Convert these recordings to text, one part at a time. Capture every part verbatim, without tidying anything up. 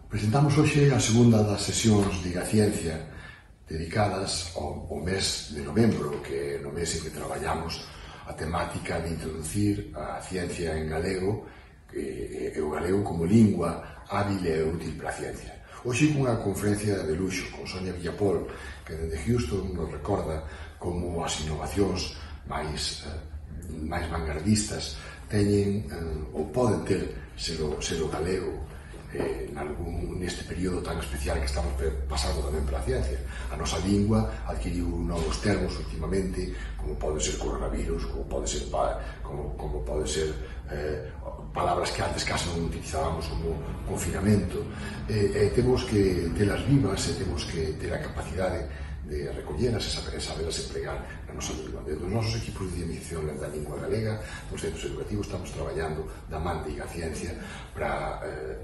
Presentamos hoxe a segunda das sesións de Igaciencia dedicadas ao, ao mes de novembro, que é no mes en que traballamos a temática de introducir a ciencia en galego e, e o galego como lingua hábil e útil para a ciencia. Hoxe cunha conferencia de luxo con Sonia Villapol, que dende Houston nos recorda como as innovacións máis, eh, máis vanguardistas teñen eh, ou poden ter ser o, ser o galego eh, nalgún, neste período tan especial que estamos pasando tamén para a ciencia. A nosa lingua adquiriu novos termos últimamente, como pode ser coronavirus, como pode ser, como, como pode ser eh, palabras que antes casi non utilizábamos como confinamento. Eh, eh, temos que telas vivas e temos que ter a capacidade de recolleras e saber, saberlas empregar na nosa lingua. Desde os nosos equipos de dinamización da lingua galega, nos centros educativos, estamos traballando da man de Igaciencia para, eh,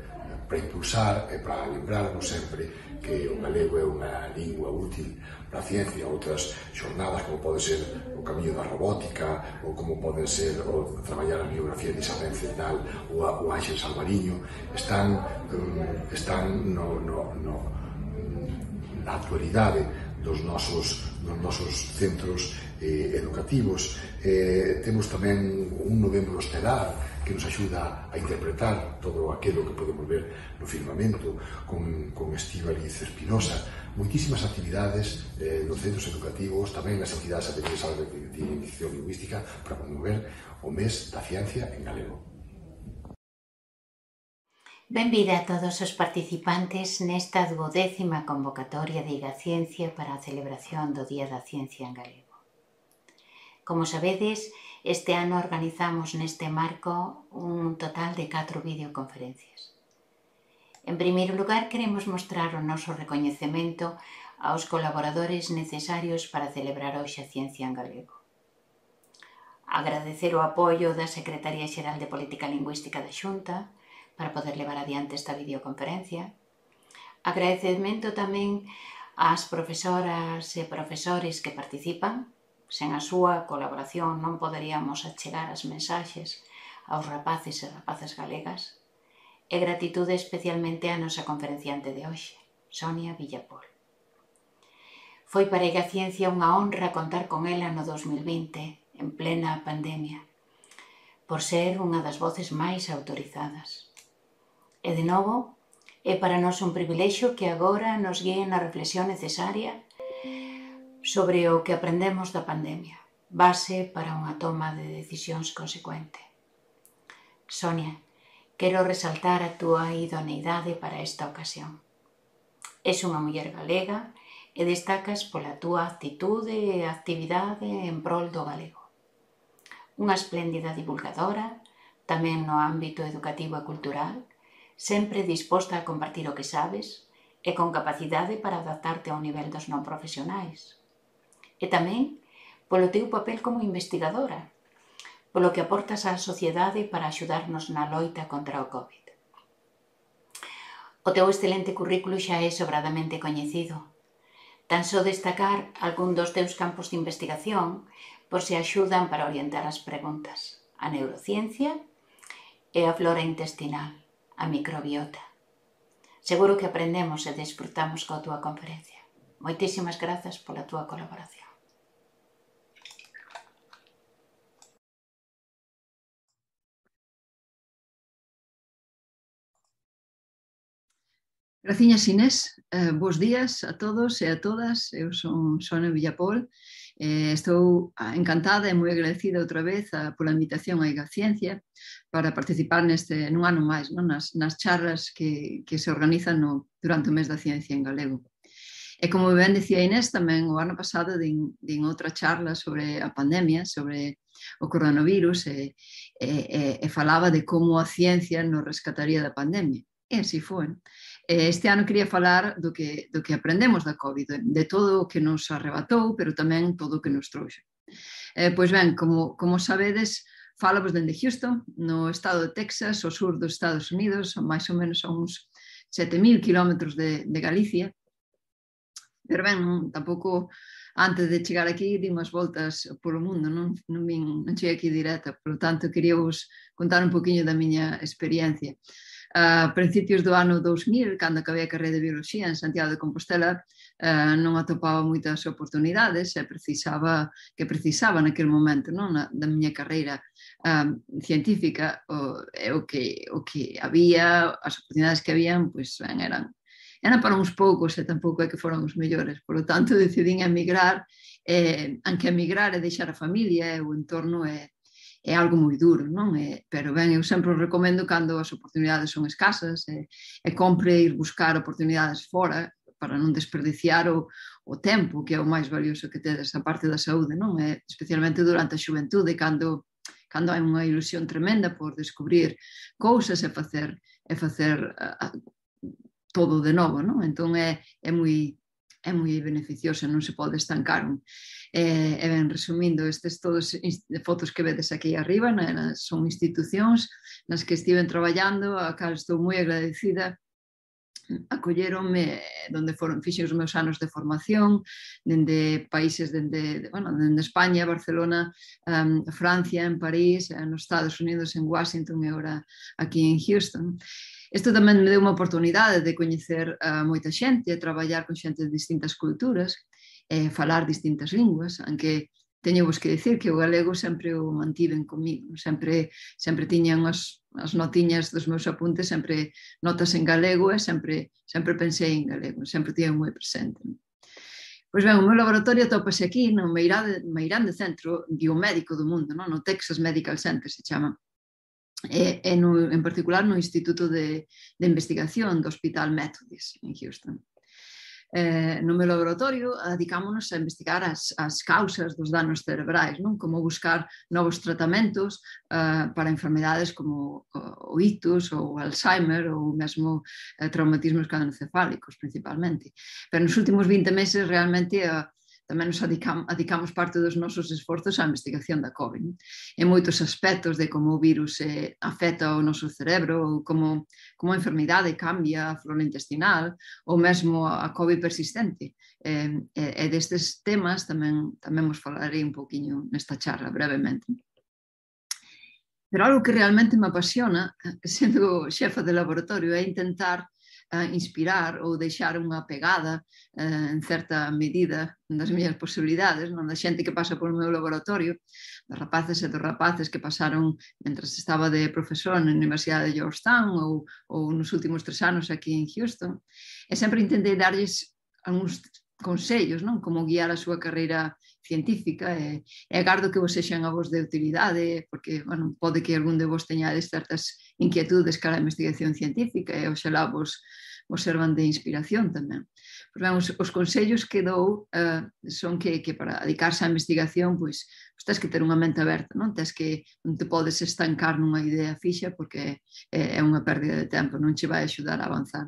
para impulsar e para lembrarnos sempre que o galego é unha lingua útil para a ciencia. Outras xornadas, como pode ser o camiño da robótica, ou como pode ser o traballar a biografía de Isabel Zendal ou a, o Ángel Salvariño, están, um, están no, no, no, na actualidade dos nosos, dos nosos centros eh, educativos. Eh, temos tamén un novembro estelar que nos axuda a interpretar todo aquilo que podemos ver no firmamento con, con Estíbaliz Espinosa. Moitísimas actividades eh, nos centros educativos, tamén as actividades atendidas de dinamización lingüística para promover o mes da ciencia en galego. Benvida a todos os participantes nesta duodécima convocatoria de Igaciencia para a celebración do Día da Ciencia en Galego. Como sabedes, este ano organizamos neste marco un total de catro videoconferencias. En primeiro lugar, queremos mostrar o noso recoñecemento aos colaboradores necesarios para celebrar hoxe a Ciencia en Galego. Agradecer o apoio da Secretaría Xeral de Política Lingüística da Xunta para poder levar adiante esta videoconferencia. Agradecemento tamén ás profesoras e profesores que participan. Sen a súa colaboración non poderíamos achegar as mensaxes aos rapaces e rapazas galegas. E gratitude especialmente á nosa conferenciante de hoxe, Sonia Villapol. Foi para a Igaciencia unha honra contar con ela no dos mil vinte, en plena pandemia, por ser unha das voces máis autorizadas. E, de novo, é para nós un privilexio que agora nos guíe na reflexión necesaria sobre o que aprendemos da pandemia, base para unha toma de decisións consecuente. Sonia, quero resaltar a túa idoneidade para esta ocasión. És unha muller galega e destacas pola túa actitude e actividade en prol do galego. Unha espléndida divulgadora, tamén no ámbito educativo e cultural, sempre disposta a compartir o que sabes e con capacidade para adaptarte ao nivel dos non profesionais. E tamén polo teu papel como investigadora, polo que aportas á sociedade para axudarnos na loita contra o COVID. O teu excelente currículo xa é sobradamente coñecido. Tan só destacar algún dos teus campos de investigación por se axudan para orientar as preguntas: a neurociencia e a flora intestinal, a microbiota. Seguro que aprendemos e desfrutamos coa túa conferencia. Moitísimas grazas pola túa colaboración. Graciñas, Inés. Eh, bos días a todos e a todas. Eu son Sonia Villapol. Eh, estou encantada e moi agradecida outra vez a, pola invitación a Igaciencia para participar neste, nun ano máis, non? Nas, nas charlas que, que se organizan no, durante o mes da ciencia en galego. E como ben decía Inés, tamén o ano pasado din, din outra charla sobre a pandemia, sobre o coronavirus, e, e, e falaba de como a ciencia nos rescataría da pandemia. E así foi. Este ano quería falar do que, do que aprendemos da COVID, de todo o que nos arrebatou, pero tamén todo o que nos trouxe. Eh, pois ben, como, como sabedes, falamos dende Houston, no estado de Texas, ao sur dos Estados Unidos, máis ou menos a uns sete mil kilómetros de, de Galicia. Pero ben, non, tampouco antes de chegar aquí di unhas voltas polo mundo, non, non, vin, non cheguei aquí directa, por tanto quería vos contar un poquinho da miña experiencia. A principios do ano dous mil, cando acabei a carreira de Bioloxía en Santiago de Compostela, uh, non atopaba moitas oportunidades e precisaba, que precisaba naquele momento, non, na, da miña carreira um, científica, o, o, que, o que había, as oportunidades que habían, pois, ben, eran eran para uns poucos e tampouco é que foran os mellores. Por lo tanto, decidín emigrar, eh, aunque emigrar e deixar a familia e o entorno é, é algo moi duro, non? É, pero ben, eu sempre recomendo cando as oportunidades son escasas e, e compre ir buscar oportunidades fora para non desperdiciar o, o tempo, que é o máis valioso que tedes, a parte da saúde, non? É, especialmente durante a xuventude, cando cando hai unha ilusión tremenda por descubrir cousas e facer, e facer uh, todo de novo, non? Entón é, é moi é moi beneficioso, non se pode estancar. E, e ben, resumindo, estes todos fotos que vedes aquí arriba, né, son institucións nas que estiven traballando, a cal estou moi agradecida. Acolleronme donde foron, fixen os meus anos de formación, dende países, dende, bueno, dende España, Barcelona, um, Francia, en París, nos Estados Unidos, en Washington e agora aquí en Houston. Isto tamén me deu unha oportunidade de coñecer a moita xente, traballar con xente de distintas culturas, e falar distintas linguas, aunque teño vos que dicir que o galego sempre o mantiven comigo, sempre, sempre tiña unhas as notiñas dos meus apuntes, sempre notas en galego e sempre, sempre pensei en galego, sempre tiña moi presente. Pois ben, o meu laboratorio atopase aquí no meirande centro biomédico do mundo, non? No Texas Medical Center se chama. E, e no, en particular no Instituto de, de Investigación do Hospital Methodist en Houston. Eh, no meu laboratorio dedicámonos a investigar as, as causas dos danos cerebrais, non? Como buscar novos tratamentos uh, para enfermedades como o, o ictus ou o Alzheimer ou mesmo eh, traumatismos craneoencefálicos principalmente. Pero nos últimos vinte meses realmente uh, tamén nos adicamos, adicamos parte dos nosos esforzos á investigación da COVID, non? En moitos aspectos de como o virus eh, afecta o noso cerebro, ou como, como a enfermidade cambia a flora intestinal, ou mesmo a COVID persistente. E, e destes temas tamén, tamén vos falarei un pouquiño nesta charla, brevemente. Pero algo que realmente me apasiona, sendo xefa de laboratorio, é intentar a inspirar ou deixar unha pegada eh, en certa medida das miñas posibilidades, non? Da xente que pasa polo meu laboratorio, dos rapaces e dos rapaces que pasaron mentre estaba de profesor na Universidade de Georgetown ou, ou nos últimos tres anos aquí en Houston, e sempre intentei darlles algúns consellos, non? Como guiar a súa carreira científica e, e agardo que vos sexan a vos de utilidade, porque, bueno, pode que algún de vos teñades certas inquietudes cara a investigación científica e oxalá vos, vos servan de inspiración tamén. Pois ben, os, os consellos que dou uh, son que, que para dedicarse á investigación, pois, pois tens que ter unha mente aberta, non? Tens que non te podes estancar nunha idea fixa porque é, é unha pérdida de tempo, non che vai axudar a avanzar.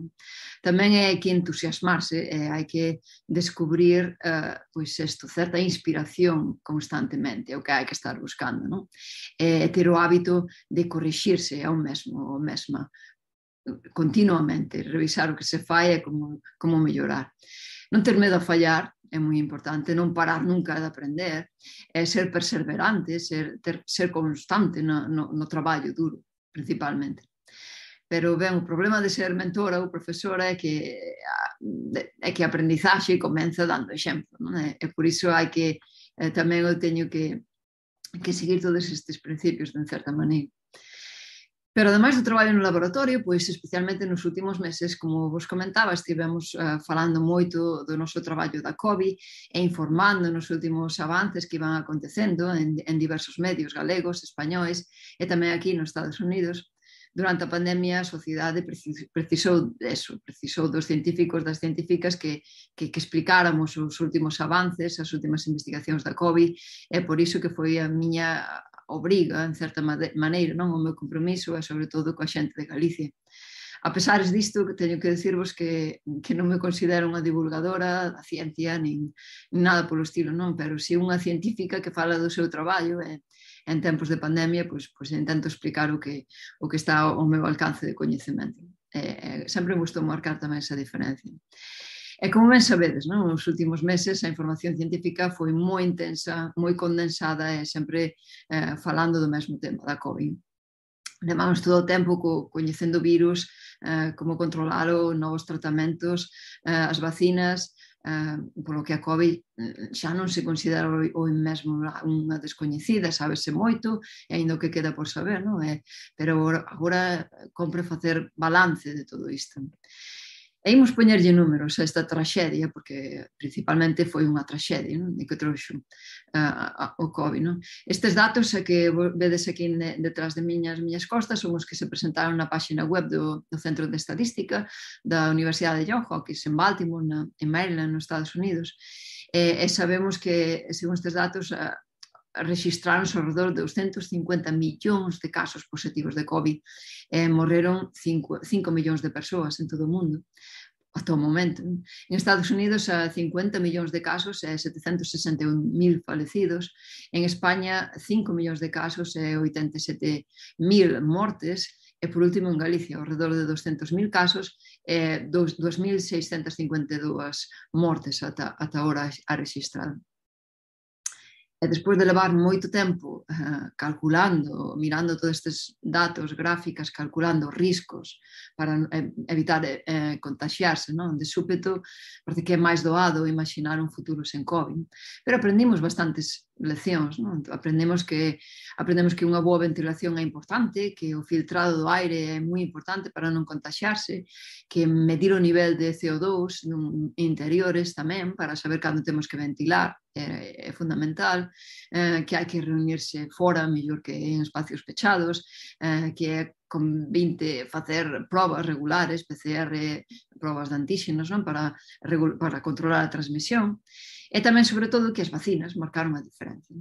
Tamén é que entusiasmarse, e hai que descubrir uh, pois isto, certa inspiración constantemente, é o que hai que estar buscando, non? E ter o hábito de corrixirse ao mesmo, ao mesma, continuamente, revisar o que se fai e como, como mellorar. Non ter medo a fallar é moi importante, non parar nunca de aprender, é ser perseverante, ser, ter, ser constante no, no, no traballo duro, principalmente. Pero, ben, o problema de ser mentora ou profesora é que é que a aprendizaxe comeza dando exemplo, non é? E por iso hai que, eh, tamén eu teño que, que seguir todos estes principios de certa maneira. Pero, ademais do traballo no laboratorio, pois, especialmente nos últimos meses, como vos comentaba, estivemos uh, falando moito do noso traballo da COVID e informando nos últimos avances que iban acontecendo en, en diversos medios galegos, españois e tamén aquí nos Estados Unidos. Durante a pandemia, a sociedade precisou eso, precisou dos científicos, das científicas que, que, que explicáramos os últimos avances, as últimas investigacións da COVID, e por iso que foi a miña obriga, en certa maneira, non? O meu compromiso é sobre todo coa xente de Galicia. A pesar disto, teño que dicirvos que, que non me considero unha divulgadora da ciencia, nin, nin nada polo estilo, non? Pero si unha científica que fala do seu traballo e en tempos de pandemia, pois, pois intento explicar o que, o que está ao meu alcance de coñecemento. E, sempre me gustou marcar tamén esa diferencia. E como ben sabedes, non? Nos últimos meses a información científica foi moi intensa, moi condensada e sempre eh, falando do mesmo tema da COVID. levamos todo o tempo co, coñecendo virus, uh, como controlalo, novos tratamentos, uh, as vacinas, uh, polo que a COVID xa non se considera o mesmo unha descoñecida, sábese moito, e ainda o que queda por saber, non? É, pero agora compre facer balance de todo isto. E imos poñerlle números a esta traxedia, porque principalmente foi unha traxedia, non? E que trouxo uh, o COVID. Non? Estes datos que vedes aquí detrás de miñas, miñas costas son os que se presentaron na página web do, do Centro de Estadística da Universidade de Johns Hopkins en Baltimore, na, en Maryland, nos Estados Unidos. E, e sabemos que, según estes datos, uh, registraron ao redor de doscientos cincuenta millóns de casos positivos de COVID e morreron cinco millóns de persoas en todo o mundo ata o momento. En Estados Unidos, a cincuenta millóns de casos e setecentos sesenta e un mil falecidos. En España, cinco millóns de casos e oitenta e sete mil mortes. E, por último, en Galicia, ao redor de doscientos mil casos e dos mil seiscentas cincuenta e dúas mortes ata, ata ahora a registrar. E despois de levar moito tempo uh, calculando, mirando todos estes datos, gráficas, calculando riscos para eh, evitar eh, contagiarse, non? De súpeto, parece que é máis doado imaginar un futuro sen COVID. Pero aprendimos bastantes leccións, non? Aprendemos que, aprendemos que unha boa ventilación é importante, que o filtrado do aire é moi importante para non contagiarse, que medir o nivel de C O dos interiores tamén, para saber cando temos que ventilar, é, é fundamental, eh, que hai que reunirse fora, mellor que en espacios pechados, eh, que é con vinte facer probas regulares, P C R, probas de antíxenos, non? Para, para controlar a transmisión, e tamén, sobre todo, que as vacinas marcaron a diferencia.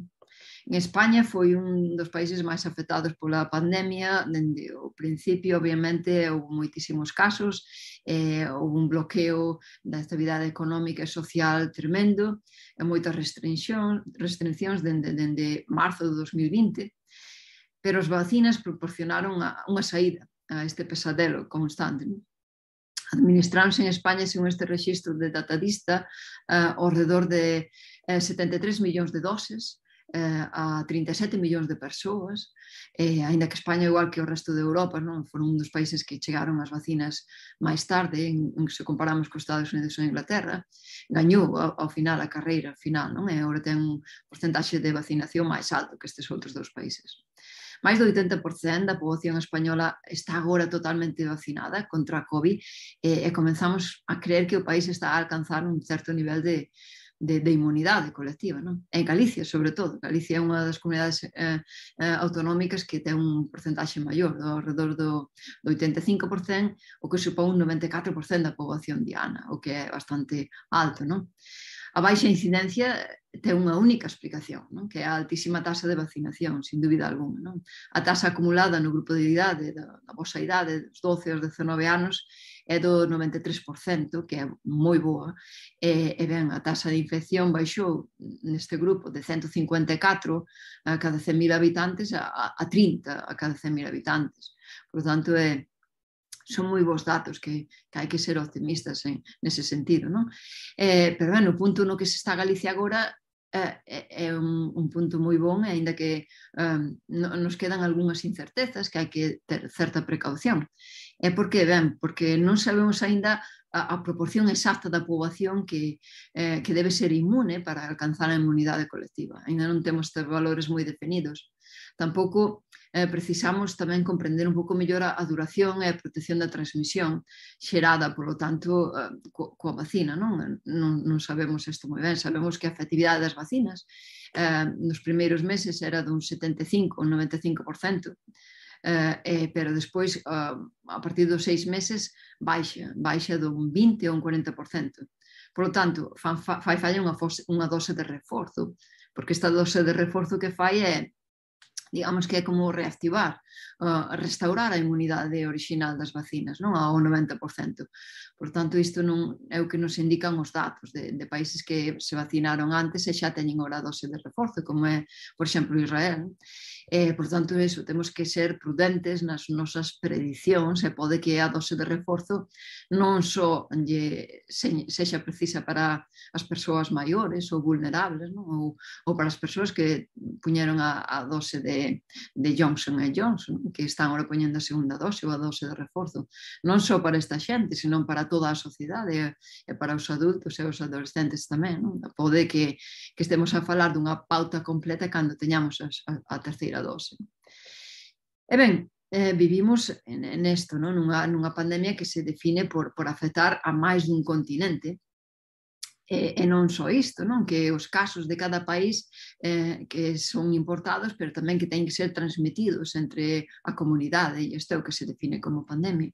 En España foi un dos países máis afectados pola pandemia. Dende o principio, obviamente, houve moitísimos casos, eh, houve un bloqueo da actividade económica e social tremendo, e moitas restriccións, restriccións dende, dende marzo de dos mil vinte, pero as vacinas proporcionaron unha saída a este pesadelo constante. Administráronse en España, según este registro de Datadista, uh, ao redor de uh, setenta e tres millóns de doses uh, a trinta e sete millóns de persoas, eh, ainda que España, igual que o resto de Europa, non? Foron un dos países que chegaron as vacinas máis tarde, en, en, se comparamos con Estados Unidos ou Inglaterra, gañou ao, ao final a carreira final, non? E agora ten un porcentaxe de vacinación máis alto que estes outros dous países. Mais do oitenta por cento da poboación española está agora totalmente vacinada contra a COVID e, e comenzamos a creer que o país está a alcanzar un certo nivel de, de, de inmunidade colectiva. Non? En Galicia, sobre todo. Galicia é unha das comunidades eh, eh, autonómicas que ten un porcentaxe maior, ao redor do, do oitenta e cinco por cento, o que supón un noventa e catro por cento da poboación diana, o que é bastante alto. Non? A baixa incidencia ten unha única explicación, non? Que é a altísima taxa de vacinación, sin dúbida alguna. Non? A taxa acumulada no grupo de idade, da, da vosa idade, dos doce aos dezanove anos, é do noventa e tres por cento, que é moi boa, e, e ben, a taxa de infección baixou neste grupo de ciento cincuenta e catro a cada cen mil habitantes a, a trinta a cada cen mil habitantes. Por tanto, é son moi bons datos que, que hai que ser optimistas en, nese sentido. Non? Eh, pero ben, o punto no que se está Galicia agora eh, é un, un punto moi bon, ainda que um, no, nos quedan algunhas incertezas que hai que ter certa precaución. E por que? Ben, porque non sabemos aínda a, a proporción exacta da poboación que, eh, que debe ser inmune para alcanzar a inmunidade colectiva. Ainda non temos estes valores moi definidos. Tampouco eh, precisamos tamén comprender un pouco mellor a, a duración e a protección da transmisión xerada, polo tanto, eh, co, coa vacina. Non? Non, non sabemos isto moi ben. Sabemos que a efectividade das vacinas eh, nos primeiros meses era dun setenta e cinco ou noventa e cinco por cento, eh, eh, pero despois, eh, a partir dos seis meses, baixa, baixa dun vinte ou un cuarenta por cento. Por lo tanto, fa, fa, fai falla unha, unha dose de reforzo, porque esta dose de reforzo que fai é, digamos que é como reactivar, uh, restaurar a inmunidade original das vacinas, non? Ao noventa por cento. Por tanto, isto non é o que nos indican os datos de, de países que se vacinaron antes e xa teñen agora a dose de reforzo, como é, por exemplo, Israel. Eh, por tanto, eso, temos que ser prudentes nas nosas predicións e pode que a dose de reforzo non só lle, se, sexa precisa para as persoas maiores ou vulnerables, non? Ou, ou para as persoas que puñeron a, a dose de de, de Johnson e Johnson, que están ahora poñendo a segunda dose ou a dose de reforzo, non só para esta xente, senón para toda a sociedade e para os adultos e os adolescentes tamén. Non? Pode que, que estemos a falar dunha pauta completa cando teñamos a, a, a terceira dose. E ben, eh, vivimos nesto, non? Nunha, nunha pandemia que se define por, por afectar a máis dun continente, e, e non só isto, non? Que os casos de cada país eh, que son importados, pero tamén que teñen que ser transmitidos entre a comunidade, e isto é o que se define como pandemia.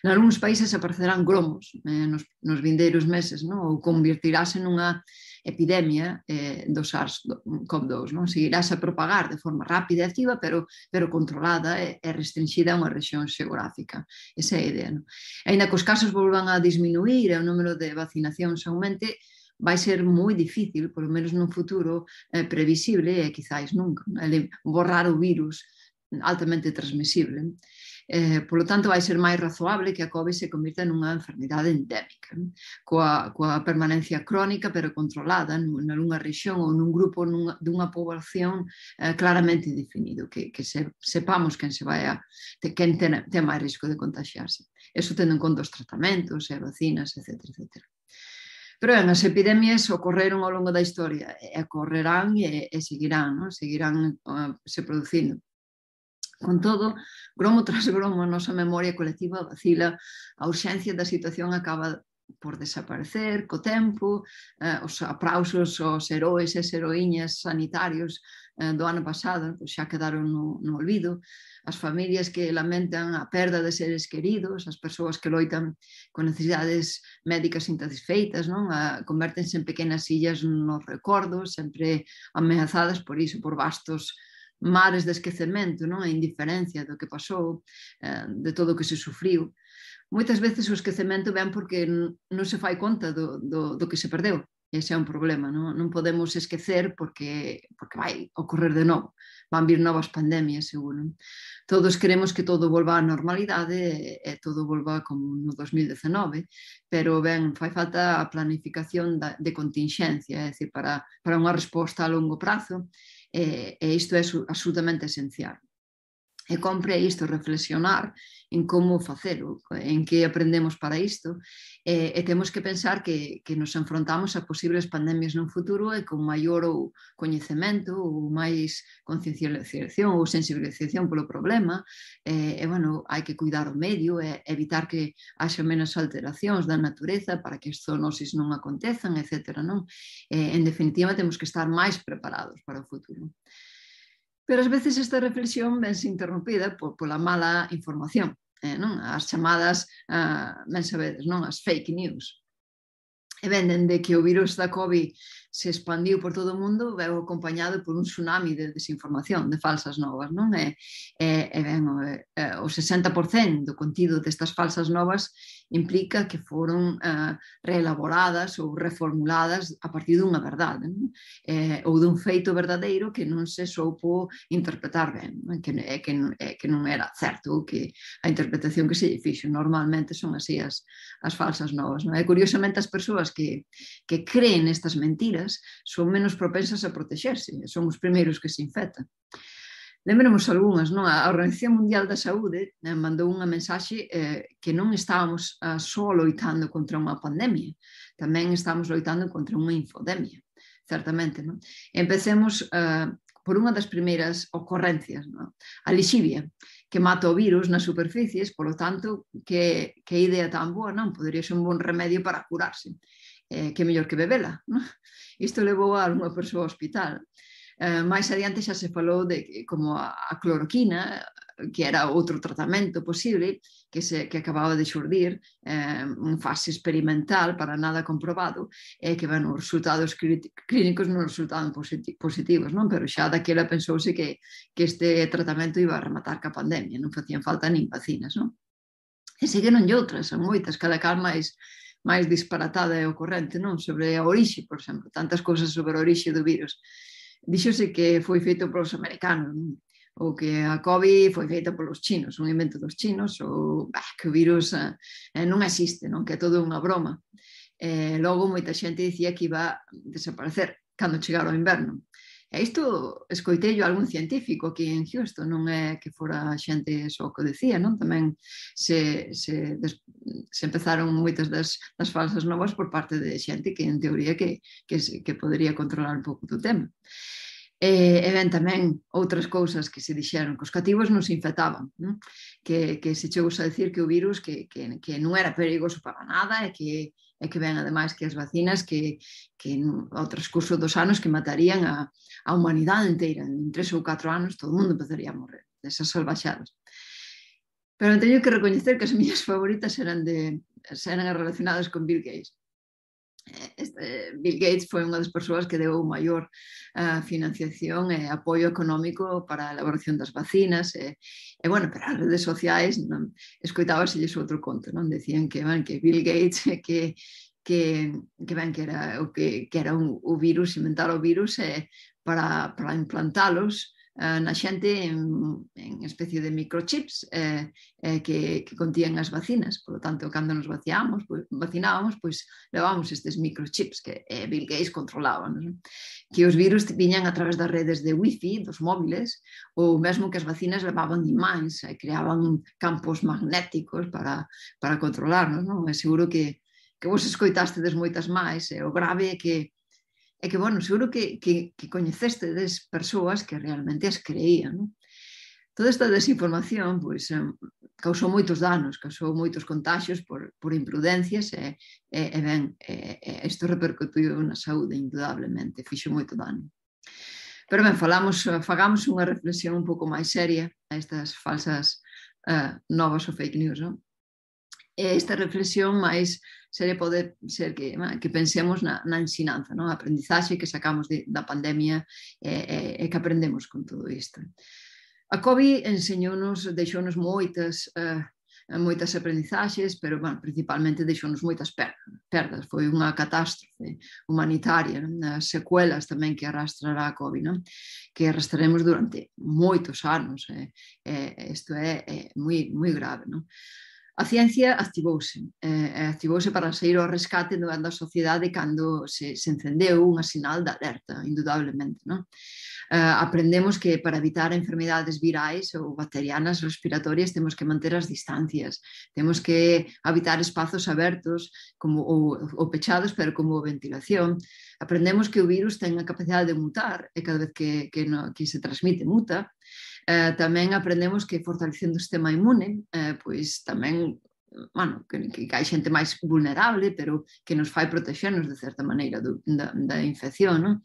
En algúns países aparecerán gromos eh, nos, nos vindeiros meses, non? Ou convertirase nunha epidemia eh, do SARS-CoV dous, non? Seguirás a propagar de forma rápida e activa, pero, pero controlada e, e restringida a unha rexión xeográfica. Esa é a idea, non? E ainda que os casos volvan a disminuir e o número de vacinacións aumente, vai ser moi difícil, polo menos nun futuro eh, previsible, e quizáis nunca, borrar o virus altamente transmisible. Eh, polo tanto, vai ser máis razoable que a COVID se convirta nunha enfermidade endémica, coa, coa permanencia crónica pero controlada nunha rexión ou nun grupo nunha, dunha poboación eh, claramente definido, que, que se, sepamos quen se vai a, quen ten, ten máis risco de contagiarse. Eso tendo en conta os tratamentos e vacinas, etcétera, etcétera. Pero ben, as epidemias ocorreron ao longo da historia e ocorrerán e, e seguirán, non? Seguirán uh, se producindo. Con todo, gromo tras gromo, a nosa memoria colectiva vacila, a urxencia da situación acaba por desaparecer co tempo, eh, os aplausos aos heróis e heroíñas sanitarios eh, do ano pasado pues xa quedaron no, no olvido, as familias que lamentan a perda de seres queridos, as persoas que loitan con necesidades médicas insatisfeitas, non? A, convértense en pequenas illas nos recordos, sempre ameazadas por iso, por vastos mares de esquecemento, non? A indiferencia do que pasou, eh, de todo o que se sufriu. Moitas veces o esquecemento ven porque non se fai conta do, do, do que se perdeu. Ese é un problema, non, non podemos esquecer porque, porque vai ocorrer de novo. Van vir novas pandemias, seguro. Todos queremos que todo volva á normalidade e, e todo volva como no dos mil dezenove, pero ben, fai falta a planificación da, de contingencia, é dicir, para, para unha resposta a longo prazo, e, e isto é absolutamente esencial. E compre isto reflexionar en como facelo, en que aprendemos para isto, e, e temos que pensar que, que nos enfrontamos a posibles pandemias no futuro e con maior ou coñecemento ou máis concienciación ou sensibilización polo problema, e, e bueno, hai que cuidar o medio e evitar que haxa menos alteracións da natureza para que as zoonosis non acontezan, etcétera. Non? E, en definitiva, temos que estar máis preparados para o futuro. Pero ás veces esta reflexión vense interrompida por, pola mala información, eh, non? As chamadas, uh, ben sabedes, non? As fake news. E ben, dende que o virus da COVID se expandiu por todo o mundo, veu acompañado por un tsunami de desinformación, de falsas novas, non? E, e, e ben, o, o sesenta por cento do contido destas falsas novas implica que foron uh, reelaboradas ou reformuladas a partir dunha verdade, non? Eh, ou dun feito verdadeiro que non se soupo interpretar ben, non? Que, é, que, é, que non era certo, ou que a interpretación que se fixo normalmente son así as, as falsas novas, non? E curiosamente as persoas que, que creen estas mentiras son menos propensas a protexerse, son os primeiros que se infectan. Lembremos algunhas, non? A Organización Mundial da Saúde eh, mandou unha mensaxe eh, que non estábamos eh, só loitando contra unha pandemia, tamén estamos loitando contra unha infodemia, certamente. Non? Empecemos eh, por unha das primeiras ocorrencias, non? A lixivia, que mata o virus nas superficies, polo tanto, que, que idea tan boa, non? Podería ser un bon remedio para curarse. Eh, que mellor que bebela, non? Isto levou a unha persoa ao hospital. Eh, máis adiante xa se falou de que, como a, a cloroquina, que era outro tratamento posible, que, se, que acababa de xurdir eh, en fase experimental para nada comprobado, e que, bueno, os resultados clínicos non resultaban positivos, non? Pero xa daquela pensouse que, que este tratamento iba a rematar ca pandemia, non facían falta nin vacinas, non? E seguiron outras, son moitas, cada cal máis máis disparatada e ocorrente, non? Sobre a orixe, por exemplo, tantas cousas sobre a orixe do virus. Díxose que foi feito polos americanos, non? Ou que a COVID foi feita polos chinos, un invento dos chinos, ou bah, que o virus eh, non existe, non? Que é todo unha broma. Eh, logo, moita xente dicía que iba a desaparecer cando chegara o inverno. E isto escoitei a algún científico aquí en Houston, non é que fora xente só que decía, non? Tamén se, se, des, se empezaron moitas das, das falsas novas por parte de xente que en teoría que, que, que podería controlar un pouco do tema. E, e ben tamén outras cousas que se dixeron, que os cativos non se infectaban, non? Que, que se chegou a decir que o virus que, que, que non era perigoso para nada e que, e que ben ademais que as vacinas que, que ao transcurso dos anos que matarían a, a humanidade inteira, en tres ou catro anos todo o mundo empezaría a morrer desas salvaxadas. Pero teño que recoñecer que as miñas favoritas eran, de, eran relacionadas con Bill Gates. Este, Bill Gates foi unha das persoas que deu maior uh, financiación e apoio económico para a elaboración das vacinas e, e bueno, pero as redes sociais non, escoitábaselles outro conto, non? Decían que, ben, que Bill Gates que, que, que, ben, que era o que, que era un, o virus, inventar o virus e, para, para implantalos uh, na xente en, en especie de microchips eh, eh, que, que contían as vacinas. Por lo tanto, cando nos vaciábamos, pues, vacinábamos, pois levábamos estes microchips que eh, Bill Gates controlaba, non? Que os virus viñan a través das redes de wifi, dos móviles, ou mesmo que as vacinas levaban imáns e creaban campos magnéticos para, para controlarnos, non? É seguro que, que vos escoitastedes moitas máis, e o grave é que é que, bueno, seguro que, que, que coñecestedes persoas que realmente as creían, non? Toda esta desinformación pois, causou moitos danos, causou moitos contagios por, por imprudencias e, e, e ben, e, e isto repercutiu na saúde, indudablemente, fixo moito dano. Pero ben, falamos, fagamos unha reflexión un pouco máis seria a estas falsas uh, novas ou fake news, non? E esta reflexión máis seria pode ser que, que pensemos na, na ensinanza, non? A aprendizaxe que sacamos de, da pandemia e, e, e que aprendemos con todo isto. A COVID enseñounos, deixounos moitas, uh, moitas aprendizaxes, pero bueno, principalmente deixounos moitas perdas. Foi unha catástrofe humanitaria, non? As secuelas tamén que arrastrará a COVID, non? Que arrastraremos durante moitos anos. Eh? Eh, isto é, é moi, moi grave, non? A ciencia activouse, eh, activouse para sair ao rescate da sociedade cando se, se encendeu unha sinal de alerta, indudablemente, non? Uh, aprendemos que para evitar enfermidades virais ou bacterianas respiratorias temos que manter as distancias, temos que habitar espazos abertos como, ou, ou pechados, pero como ventilación. Aprendemos que o virus ten a capacidade de mutar e cada vez que, que, no, que se transmite muta. Uh, tamén aprendemos que fortalecendo o sistema inmune, uh, pois tamén bueno, que, que hai xente máis vulnerable, pero que nos fai protexernos de certa maneira do, da, da infección, non?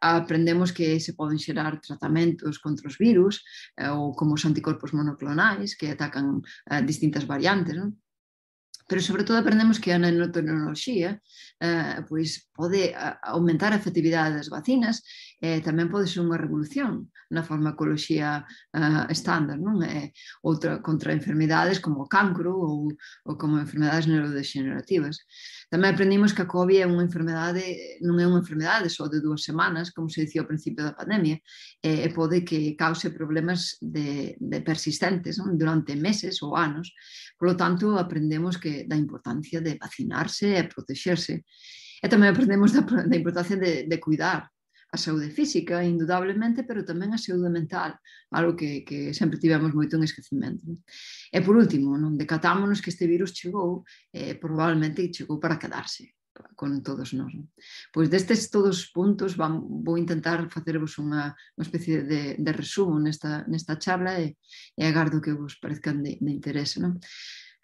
Aprendemos que se poden xerar tratamentos contra os virus eh, ou como os anticorpos monoclonais que atacan eh, distintas variantes, non? Pero sobre todo aprendemos que a nanotecnoloxía eh, pois pode aumentar a efectividade das vacinas e eh, tamén pode ser unha revolución na farmacoloxía eh, estándar, non? Eh, outra contra enfermidades como o cancro ou, ou como enfermedades neurodegenerativas. Tamén aprendimos que a COVID é unha enfermedade, non é unha enfermedade só de dúas semanas, como se dicía ao principio da pandemia, e eh, pode que cause problemas de, de persistentes, non? Durante meses ou anos. Por lo tanto, aprendemos que da importancia de vacinarse e protexerse. E tamén aprendemos da, da importancia de, de cuidar a saúde física, indudablemente, pero tamén a saúde mental, algo que, que sempre tivemos moito en esquecimento. E por último, non decatámonos que este virus chegou, eh, probablemente chegou para quedarse con todos nós. Non? Pois destes todos os puntos vamos, vou intentar facervos unha, unha especie de, de resumo nesta, nesta charla e, e agardo que vos parezcan de, de interese. Non?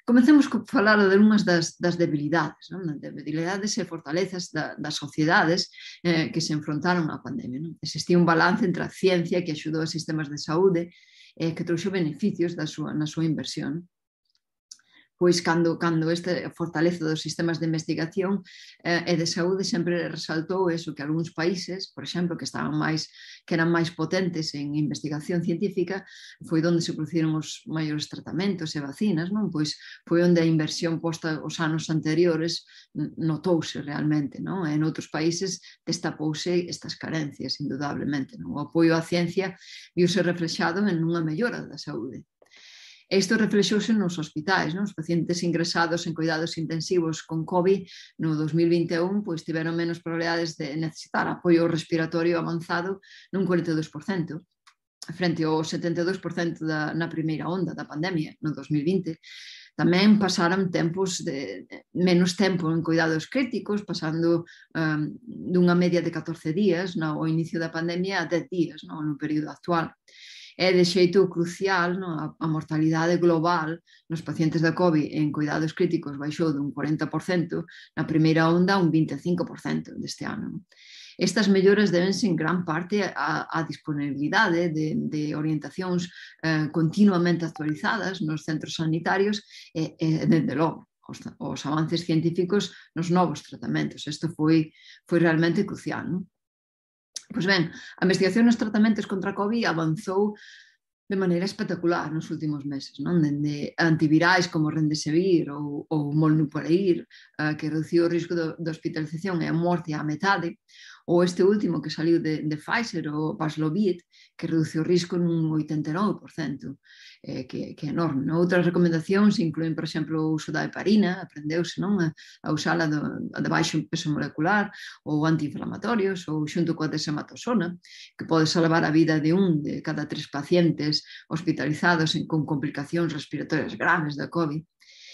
Comecemos a falar de unhas das, das debilidades, non? Debilidades e fortalezas da, das sociedades eh, que se enfrontaron á pandemia. Non? Existía un balance entre a ciencia que axudou a sistemas de saúde e eh, que trouxo beneficios da súa, na súa inversión. Pois cando, cando esta fortaleza dos sistemas de investigación eh, e de saúde sempre resaltou eso, que algúns países, por exemplo, que estaban máis, que eran máis potentes en investigación científica, foi onde se produciron os maiores tratamentos e vacinas, non? Pois foi onde a inversión posta os anos anteriores notouse realmente, non? En outros países destapouse estas carencias, indudablemente, non? O apoio á ciencia viuse reflexado en unha mellora da saúde. Isto reflexouse nos hospitais, non? Os pacientes ingresados en cuidados intensivos con COVID no dos mil vinte e un pois, tiveron menos probabilidades de necesitar apoio respiratorio avanzado nun cuarenta e dous por cento, frente ao setenta e dous por cento da, na primeira onda da pandemia, no dos mil vinte. Tamén pasaron tempos de, menos tempo en cuidados críticos, pasando um, dunha media de catorce días no, ao inicio da pandemia a dez días no, no período actual. É de xeito crucial, no, a, a mortalidade global nos pacientes da COVID en cuidados críticos baixou dun cuarenta por cento, na primeira onda un vinte e cinco por cento deste ano. Estas melloras debense en gran parte á, á disponibilidade de, de orientacións eh, continuamente actualizadas nos centros sanitarios e, e dende logo, os, os avances científicos nos novos tratamentos. Isto foi, foi realmente crucial, non? Pois ben, a investigación nos tratamentos contra a COVID avanzou de maneira espectacular nos últimos meses, non? Dende antivirais como Remdesivir ou, ou Molnupiravir, uh, que reduciu o risco de, de hospitalización e a morte á metade, ou este último que saliu de, de Pfizer, o Paxlovid, que reduciu o risco nun oitenta e nove por cento, eh, que, que é enorme. Non? Outras recomendacións incluen, por exemplo, o uso da heparina, aprendeuse non? a, a usala de, de baixo peso molecular, ou antiinflamatorios, ou xunto coa dexametasona, que pode salvar a vida de un de cada tres pacientes hospitalizados con complicacións respiratorias graves da COVID.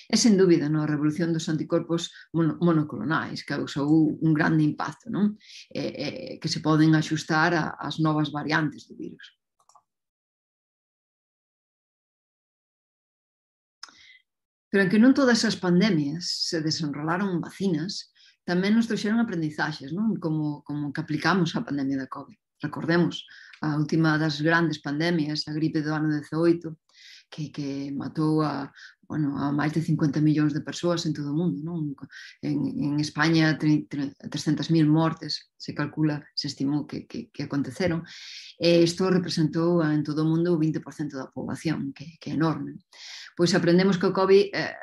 É, sen dúbida, no, a revolución dos anticorpos mono, monoclonais que causou un grande impacto, non? E, e, que se poden axustar ás novas variantes do virus. Pero en que non todas as pandemias se desenrolaron vacinas, tamén nos trouxeron aprendizaxes, non? Como, como que aplicamos a pandemia da COVID. Recordemos, a última das grandes pandemias, a gripe do ano dezaoito, que, que matou a, bueno, a máis de cincuenta millóns de persoas en todo o mundo, non? En, en España, trescentas mil mortes, se calcula, se estimou que, que, que aconteceron, e isto representou en todo o mundo o vinte por cento da poboación, que, que é enorme. Pois aprendemos que o COVID... Eh,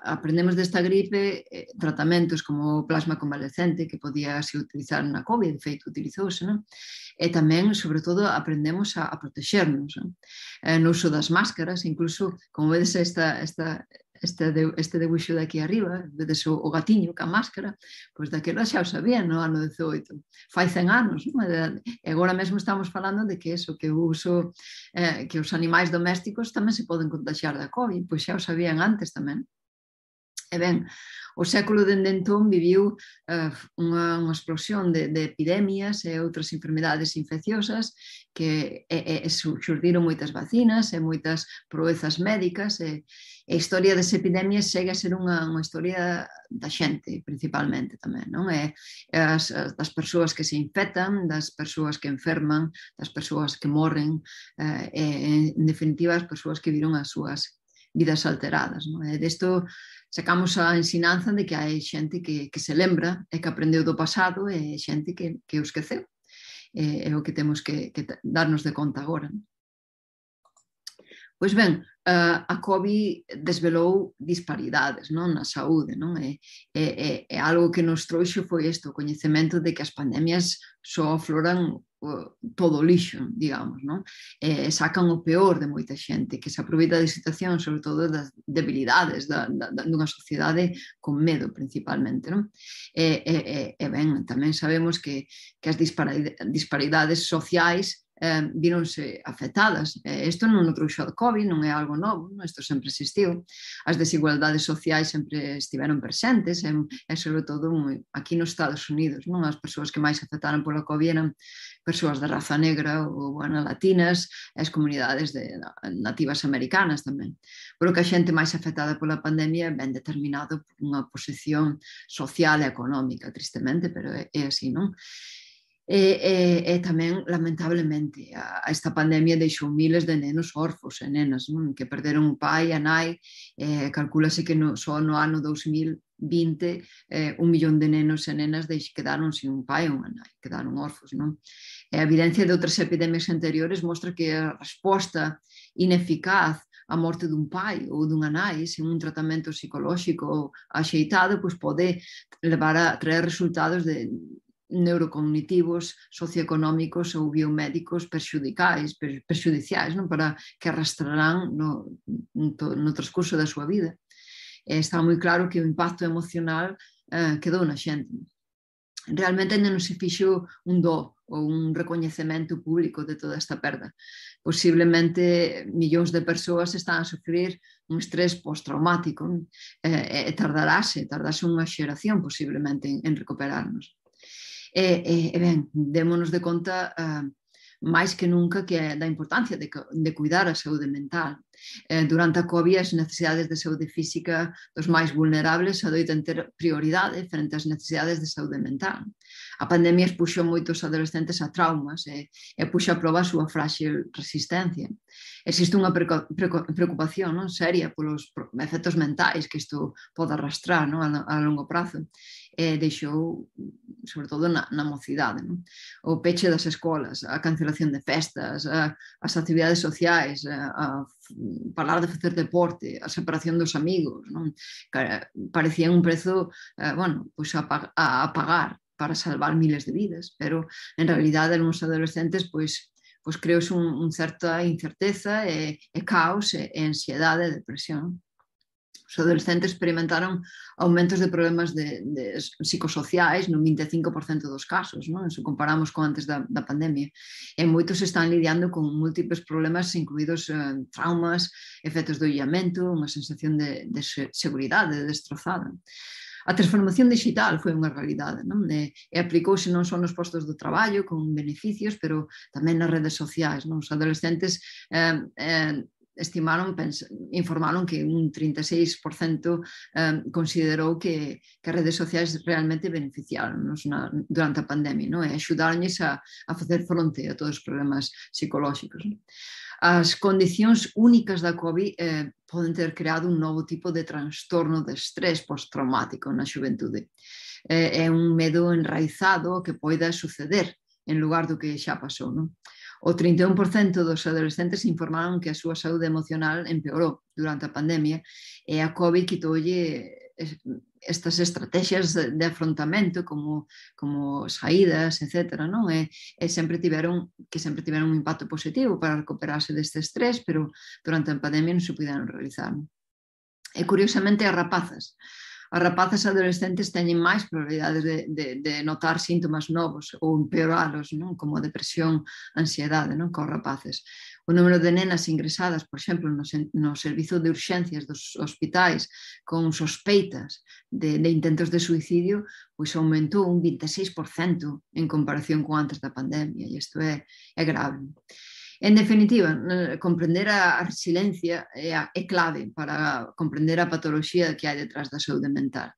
aprendemos desta gripe eh, tratamentos como o plasma convalescente que podía se utilizar na COVID, de feito utilizouse, non? E tamén, sobre todo, aprendemos a, a protexernos, non? Eh, no uso das máscaras, incluso, como vedes esta, esta, este, de, este debuxo de aquí arriba, vedes o, o gatiño ca máscara, pois daquela xa o sabían no ano dezaoito, fai cen anos, non? E agora mesmo estamos falando de que eso, que o uso, eh, que os animais domésticos tamén se poden contagiar da COVID, pois xa o sabían antes tamén. E ben, o século dende entón viviu uh, unha, unha explosión de, de epidemias e outras enfermedades infecciosas que e, e, xurdiron moitas vacinas e moitas proezas médicas e, e a historia das epidemias segue a ser unha, unha historia da xente, principalmente tamén, non? E, as, as, das persoas que se infectan, das persoas que enferman, das persoas que morren uh, e, en definitiva, as persoas que viron as súas vidas alteradas, non? E desto sacamos a ensinanza de que hai xente que, que se lembra e que aprendeu do pasado e xente que, que o esqueceu. É, é o que temos que, que darnos de conta agora. Pois ben, a COVID desvelou disparidades, non? Na saúde, non? E, e, e algo que nos trouxo foi isto, o coñecemento de que as pandemias só afloran todo o lixo, digamos, non? E sacan o peor de moita xente que se aproveita da situación, sobre todo das debilidades da, da, dunha sociedade con medo, principalmente, non? E, e, e ben, tamén sabemos que, que as disparidades sociais eh, vironse afectadas. Eh, isto non o trouxo do COVID, non é algo novo, non? Isto sempre existiu. As desigualdades sociais sempre estiveron presentes, e, e sobre todo aquí nos Estados Unidos, non? As persoas que máis afectaron pola COVID eran persoas de raza negra ou bueno, latinas, e as comunidades de, nativas americanas tamén. Pero que a xente máis afectada pola pandemia ben determinado por unha posición social e económica, tristemente, pero é, é así, non? E, e, e tamén, lamentablemente, a, a esta pandemia deixou miles de nenos orfos e nenas, non? Que perderon o pai, a nai, e calculase que no, só no ano dos mil vinte eh, un millón de nenos e nenas quedaron sin un pai ou unha nai, quedaron orfos, non? E a evidencia de outras epidemias anteriores mostra que a resposta ineficaz a morte dun pai ou dunha nai sen un tratamento psicolóxico axeitado, pois pode levar a traer resultados de neurocognitivos, socioeconómicos ou biomédicos perxudicais, per, perxudiciais, non? Para que arrastrarán no, no, no transcurso da súa vida. E está moi claro que o impacto emocional eh, quedou na xente. Realmente ainda non se fixo un do ou un recoñecemento público de toda esta perda. Posiblemente millóns de persoas están a sufrir un estrés postraumático e, e tardarase, tardarase unha xeración posiblemente en, en recuperarnos. E, e, e ben, démonos de conta uh, máis que nunca que é da importancia de, de cuidar a saúde mental. Eh, durante a COVID as necesidades de saúde física dos máis vulnerables adoitan ter prioridade frente ás necesidades de saúde mental. A pandemia expuxo moitos adolescentes a traumas e, e puxo a proba a súa frágil resistencia. Existe unha preocupación non, seria polos efectos mentais que isto pode arrastrar non, a, a longo prazo e deixou, sobre todo na, na mocidade, non? O peche das escolas, a cancelación de festas, a, as actividades sociais, a, a falar de facer deporte, a separación dos amigos, non? Parecía un prezo eh, bueno, pues a, a, a pagar para salvar miles de vidas, pero en realidade nos adolescentes pois, pois creos un, un certa incerteza e, e caos e, e ansiedade e depresión. Os adolescentes experimentaron aumentos de problemas de, de psicosociais no vinte e cinco por cento dos casos, non? Se comparamos con antes da, da pandemia. E moitos están lidiando con múltiples problemas, incluídos eh, traumas, efectos do illamento, unha sensación de, de seguridade destrozada. A transformación digital foi unha realidade, non? E, e aplicouse non só nos postos do traballo con beneficios, pero tamén nas redes sociais, non? Os adolescentes eh, eh, estimaron, informaron que un trinta e seis por cento eh, considerou que, que as redes sociais realmente beneficiaron-nos na, durante a pandemia, non? E axudaronlles a, a facer fronte a todos os problemas psicolóxicos. Non? As condicións únicas da COVID eh, poden ter creado un novo tipo de trastorno de estrés postraumático na xuventude. Eh, é un medo enraizado que poida suceder en lugar do que xa pasou, non? O trinta e un por cento dos adolescentes informaron que a súa saúde emocional empeorou durante a pandemia e a COVID quitoulle estas estrategias de afrontamento como, como saídas, etcétera, non? E, e sempre tiveron, que sempre tiveron un impacto positivo para recuperarse deste estrés, pero durante a pandemia non se puderon realizar. E curiosamente as rapazas, as rapazas adolescentes teñen máis probabilidades de, de, de notar síntomas novos ou empeoralos, non? Como depresión, ansiedade, non? Cos rapaces. O número de nenas ingresadas, por exemplo, no, no servizo de urxencias dos hospitais con sospeitas de, de intentos de suicidio, pois aumentou un vinte e seis por cento en comparación con antes da pandemia, e isto é, é grave. En definitiva, comprender a resiliencia é, é clave para comprender a patoloxía que hai detrás da saúde mental.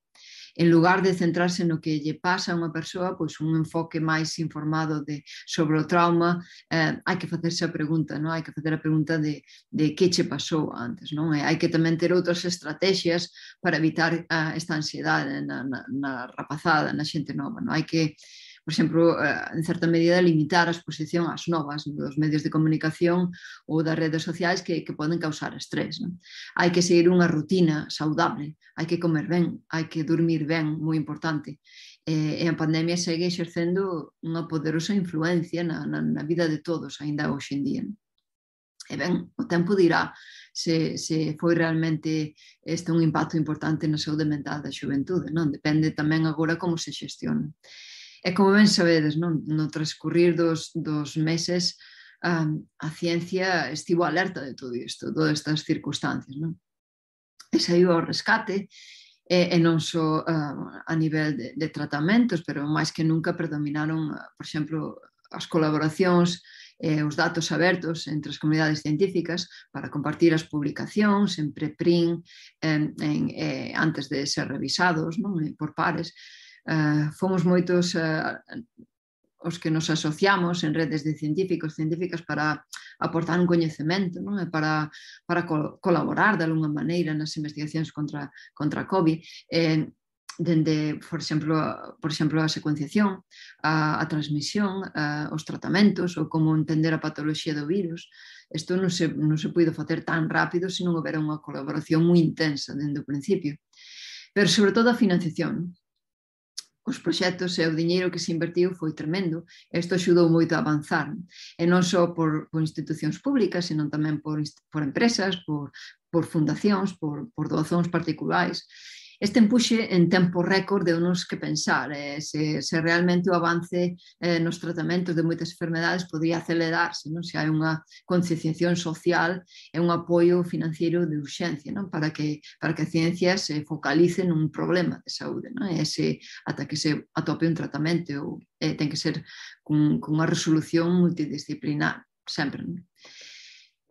En lugar de centrarse no que lle pasa a unha persoa, pois un enfoque máis informado de, sobre o trauma, eh, hai que facerse a pregunta, non? Hai que facer a pregunta de, de que che pasou antes, non? E hai que tamén ter outras estrategias para evitar uh, esta ansiedade na, na, na rapazada, na xente nova, non? Hai que, por exemplo, en certa medida, limitar a exposición ás novas dos medios de comunicación ou das redes sociais que, que poden causar estrés. Non? Hai que seguir unha rutina saudable, hai que comer ben, hai que dormir ben, moi importante. E a pandemia segue exercendo unha poderosa influencia na, na, na vida de todos, aínda hoxe en día. E ben, o tempo dirá se, se foi realmente este un impacto importante na saúde mental da xuventude. Non? Depende tamén agora como se xestiona. E como ben sabedes, non? No transcurrir dos, dos meses um, a ciencia estivo alerta de todo isto, de todas estas circunstancias. Non? E saiu ao rescate, e, e non só uh, a nivel de, de tratamentos, pero máis que nunca predominaron, por exemplo, as colaboracións e os datos abertos entre as comunidades científicas para compartir as publicacións en preprint en, en, en, antes de ser revisados, non? Por pares. Uh, fomos moitos uh, os que nos asociamos en redes de científicos, científicas para aportar un coñecemento, non? E para, para col colaborar de alguna maneira nas investigacións contra, contra a COVID, eh, dende, por exemplo, por exemplo, a secuenciación, a, a transmisión, a, os tratamentos ou como entender a patoloxía do virus. Isto non se, non se puido facer tan rápido se non houbera unha colaboración moi intensa dende o principio. Pero, sobre todo, a financiación. O os proxectos e o diñeiro que se invertiu foi tremendo. Isto axudou moito a avanzar, e non só por, por institucións públicas, senón tamén por, por empresas, por, por fundacións, por, por doazóns particulares. Este empuxe en tempo récord de unos que pensar eh, se, se realmente o avance eh, nos tratamentos de moitas enfermedades podría acelerarse, non? Se hai unha concienciación social e un apoio financiero de urxencia, non? Para que, para que a ciencia se focalice nun problema de saúde, non? E se, ata que se atope un tratamento, ou, eh, ten que ser con, con unha resolución multidisciplinar, sempre, non?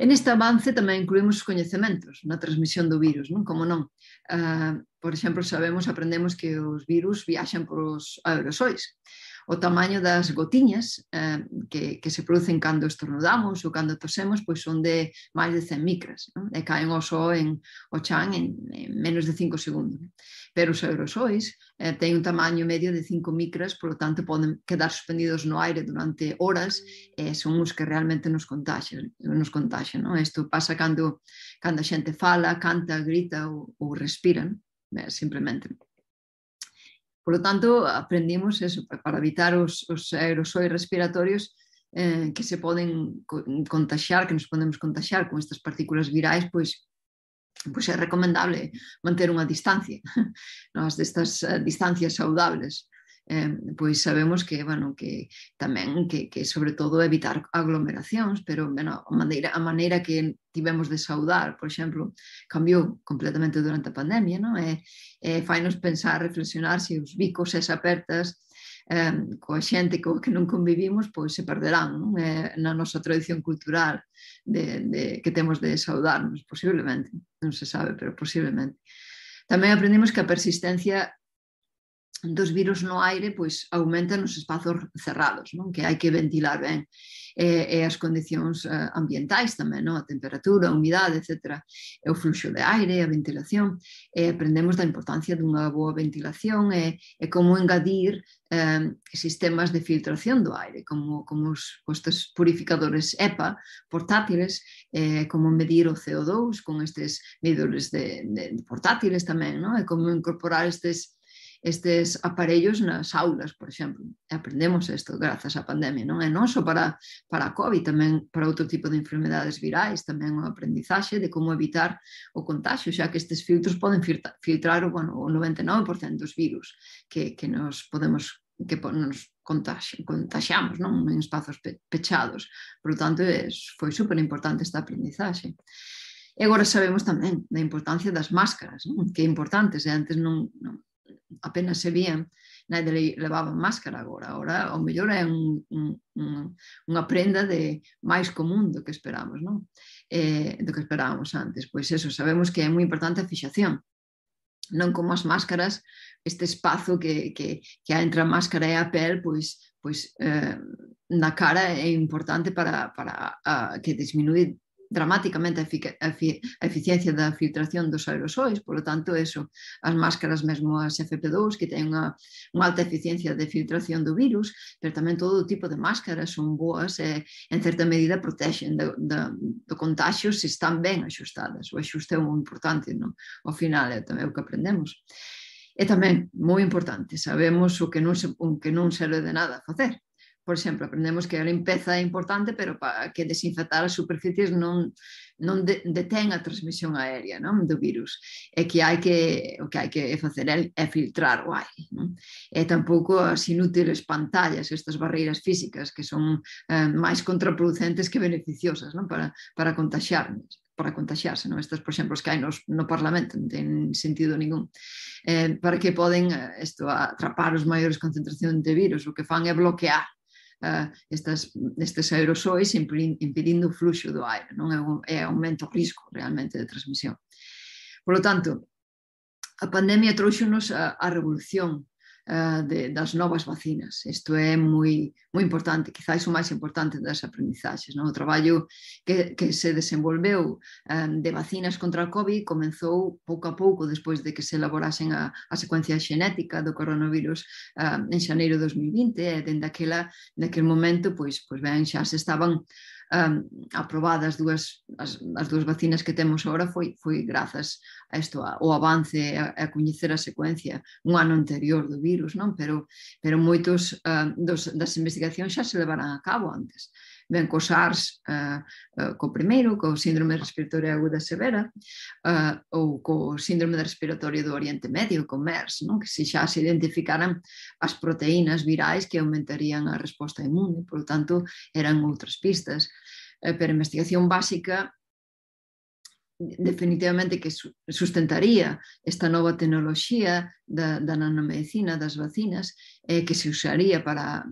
En este avance tamén incluímos os coñecementos na transmisión do virus, non? Como non? Uh, por exemplo, sabemos, aprendemos que os virus viaxan por os aerosois. O tamaño das gotiñas uh, que, que se producen cando estornudamos ou cando tosemos, pois son de máis de cen micras, non? E caen ao só en o chan en, en menos de cinco segundos. Pero os aerosois eh, teñen un tamaño medio de cinco micras, por lo tanto poden quedar suspendidos no aire durante horas e son os que realmente nos contaxian. Nos contaxian, non? Isto pasa cando, cando a xente fala, canta, grita ou, ou respiran, eh, simplemente. Por lo tanto, aprendimos eso, para evitar os, os aerosois respiratorios eh, que se poden contaxiar, que nos podemos contaxiar con estas partículas virais, pois pois é recomendable manter unha distancia, nas destas uh, distancias saudables. Eh, pois sabemos que, bueno, que tamén que, que sobre todo evitar aglomeracións, pero bueno, a maneira, a maneira que tivemos de saudar, por exemplo, cambiou completamente durante a pandemia, non? E, e fai-nos pensar, reflexionar se os bicos e as apertas eh, coa xente co que non convivimos, pois se perderán, non? Eh, na nosa tradición cultural de, de, que temos de saudarnos, posiblemente, non se sabe, pero posiblemente. Tamén aprendimos que a persistencia dos virus no aire pois aumenta nos espazos cerrados, non? Que hai que ventilar ben, e, e as condicións uh, ambientais tamén, non? A temperatura, a humidade, etcétera, e o fluxo de aire, a ventilación, e aprendemos da importancia dunha boa ventilación e, e como engadir eh, sistemas de filtración do aire, como, como os, estes purificadores E P A portátiles, eh, como medir o C O dous con estes medidores de, de, de portátiles tamén, non? E como incorporar estes estes aparellos nas aulas, por exemplo. Aprendemos isto grazas á pandemia, non? E non só para, para a COVID, tamén para outro tipo de enfermedades virais, tamén o aprendizaxe de como evitar o contagio, xa que estes filtros poden filtrar bueno, o noventa e nove por cento dos virus que, que nos podemos que nos contaxiamos, non? En espazos pechados. Por lo tanto, foi super importante esta aprendizaxe. E agora sabemos tamén da importancia das máscaras, non? Que é importante, se antes non, non apenas se vían, nadie levaba máscara agora, agora o mellor é un, un, un, unha prenda de máis común do que esperamos, non? Eh, do que esperábamos antes. Pois eso, sabemos que é moi importante a fixación, non como as máscaras, este espazo que, que, que entre a máscara e a pel, pois, pois eh, na cara é importante para, para a, que disminuir dramáticamente a, efic a, a eficiencia da filtración dos aerosois, polo tanto, eso, as máscaras mesmo as F P dous, que ten unha, unha alta eficiencia de filtración do virus, pero tamén todo tipo de máscaras son boas e, en certa medida, protexen do, do, do contagio se están ben axustadas. O axuste é moi importante, non? Ao final, é tamén o que aprendemos. E tamén, moi importante, sabemos o que non, se, o que non serve de nada facer. Por exemplo, aprendemos que a limpeza é importante, pero para que desinfectar as superficies non, non de, detén a transmisión aérea, non? Do virus. E que hai que, o que hai que facer é, é filtrar o aire, non? E tampouco as inútiles pantallas, estas barreiras físicas que son eh, máis contraproducentes que beneficiosas, non? Para, para contaxiarnos. para contaxiarse, non? Estas, por exemplo, os que hai nos, no Parlamento non ten sentido ningún. Eh, para que poden isto, atrapar os maiores concentracións de virus, o que fan é bloquear Uh, estas, estes aerosois impedindo o fluxo do aire, non? É, un, é aumento o risco realmente de transmisión. Por lo tanto, a pandemia trouxonos a, a revolución uh, de, das novas vacinas. Isto é moi, moi importante, quizás o máis importante das aprendizaxes, non? O traballo que, que se desenvolveu um, de vacinas contra o COVID comenzou pouco a pouco despois de que se elaborasen a, a secuencia xenética do coronavirus um, en xaneiro de dos mil vinte, e dende aquela, naquele momento, pois, pois ben, xa se estaban um, aprobadas dúas, as, as dúas vacinas que temos agora foi, foi grazas a isto, ao avance, a, a coñecer a secuencia un ano anterior do virus, non? Pero, pero moitos uh, dos, das investigacións xa se levaran a cabo antes. Ben, co SARS, uh, uh, co primeiro, co síndrome respiratoria aguda severa, uh, ou co síndrome respiratorio do Oriente Medio, co MERS, non? Que se xa se identificaran as proteínas virais que aumentarían a resposta inmune, por lo tanto, eran outras pistas. Uh, pero a investigación básica definitivamente que sustentaría esta nova tecnoloxía da, da nanomedicina, das vacinas, eh, que se usaría para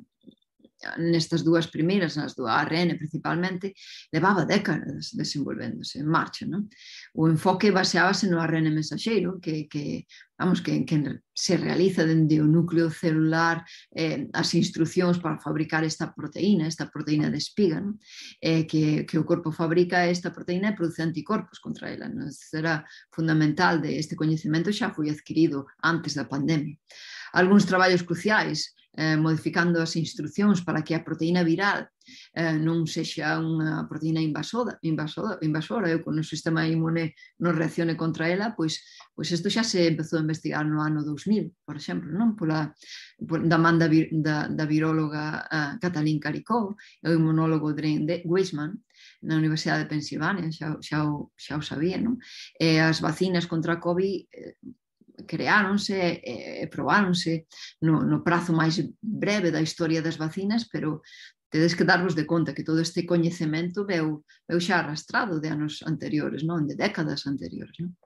nestas dúas primeiras, nas do A R N principalmente, levaba décadas desenvolvéndose en marcha, non? O enfoque baseábase no A R N mensaxeiro, que, que, vamos, que, que se realiza dende o núcleo celular eh, as instruccións para fabricar esta proteína, esta proteína de espiga, non? Eh, que, que o corpo fabrica esta proteína e produce anticorpos contra ela. Non? Será fundamental de este coñecemento xa foi adquirido antes da pandemia. Algúns traballos cruciais Eh, modificando as instruccións para que a proteína viral eh, non sexa unha proteína invasora, invasora, invasora e que o sistema inmune non reaccione contra ela, pois, pois isto xa se empezou a investigar no ano dous mil, por exemplo, non? Pola, por, da man da, da, da viróloga uh, Katalin Karikó e o inmunólogo Dren Weissman na Universidade de Pensilvania, xa, xa, o, xa o sabía, non? E as vacinas contra a COVID eh, creáronse e probáronse no, no prazo máis breve da historia das vacinas, pero tedes que darvos de conta que todo este coñecemento veu, veu xa arrastrado de anos anteriores, non? De décadas anteriores. Non?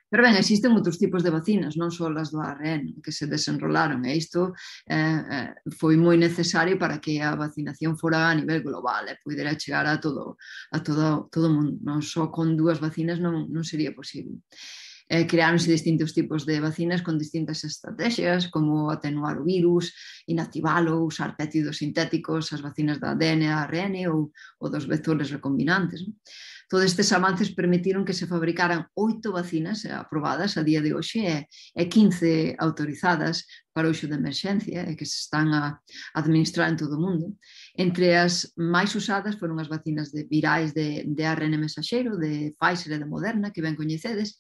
Pero ben, existen outros tipos de vacinas, non só as do A R N, que se desenrolaron, e isto eh, foi moi necesario para que a vacinación fora a nivel global e pudera chegar a todo, a todo, todo o mundo. Non só con dúas vacinas non, non sería posible. Eh, creáronse distintos tipos de vacinas con distintas estrategias, como atenuar o virus, inactivalo, usar péptidos sintéticos, as vacinas da A D N e A R N ou, ou dos vectores recombinantes. Non? Todos estes avances permitiron que se fabricaran oito vacinas aprobadas a día de hoxe e quince autorizadas para o uso de emerxencia e que se están a administrar en todo o mundo. Entre as máis usadas foron as vacinas de virais de, de A R N mensaxeiro, de Pfizer e de Moderna, que ben coñecedes,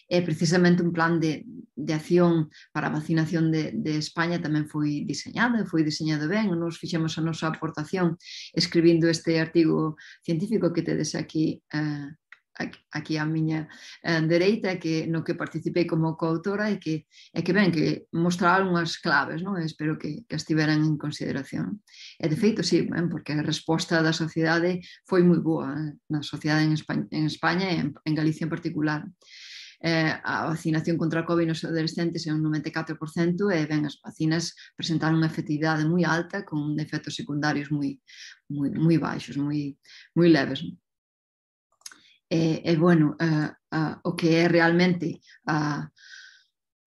e precisamente un plan de, de acción para a vacinación de, de España tamén foi diseñado, foi diseñado ben, nos fixemos a nosa aportación escribindo este artigo científico que tedes aquí eh, aquí á miña eh, dereita, que, no que participei como coautora e que, e que ben, que mostraron unhas claves, non? Espero que, que as tiveran en consideración. E de feito, sí, ben, porque a resposta da sociedade foi moi boa, eh, na sociedade en España, en España e en, en Galicia en particular. Eh, a vacinación contra a COVID nos adolescentes é un noventa e catro por cento e ben, as vacinas presentaron unha efectividade moi alta con efectos secundarios moi, moi, moi baixos, moi, moi leves. E, e bueno, uh, uh, o que é realmente a,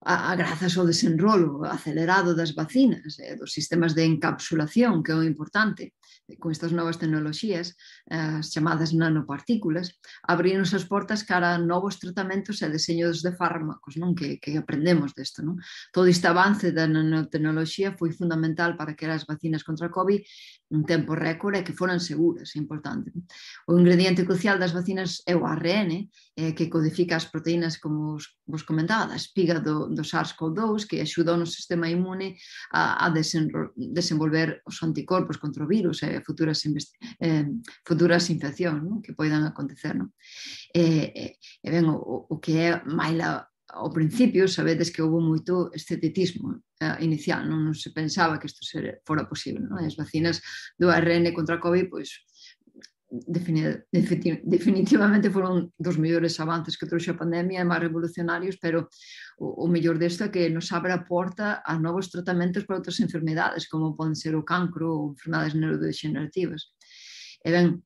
a, a grazas ao desenrolo acelerado das vacinas e dos sistemas de encapsulación, que é o importante, con estas novas tecnoloxías, as chamadas nanopartículas, abriron as portas cara a novos tratamentos e deseños de fármacos, non? Que, que aprendemos desto. Non? Todo este avance da nanotecnoloxía foi fundamental para que as vacinas contra a COVID un tempo récord e que foran seguras, é importante. O ingrediente crucial das vacinas é o A R N, eh, que codifica as proteínas, como os, vos comentaba, da espiga do, do SARS-CoV dous, que axuda o noso sistema inmune a, a desenvolver os anticorpos contra o virus e futuras, eh, futuras infeccións, non? Que poidan acontecer. Non? E, e ben, o, o que é máis la, ao principio, sabedes que houve moito escepticismo eh, inicial, non? Non se pensaba que isto fora posible. Non? As vacinas do A R N contra a COVID, pois, definitivamente foron dos mellores avances que trouxe a pandemia e máis revolucionarios, pero o, o mellor desto é que nos abre a porta a novos tratamentos para outras enfermedades, como poden ser o cancro ou enfermedades neurodegenerativas. E ben,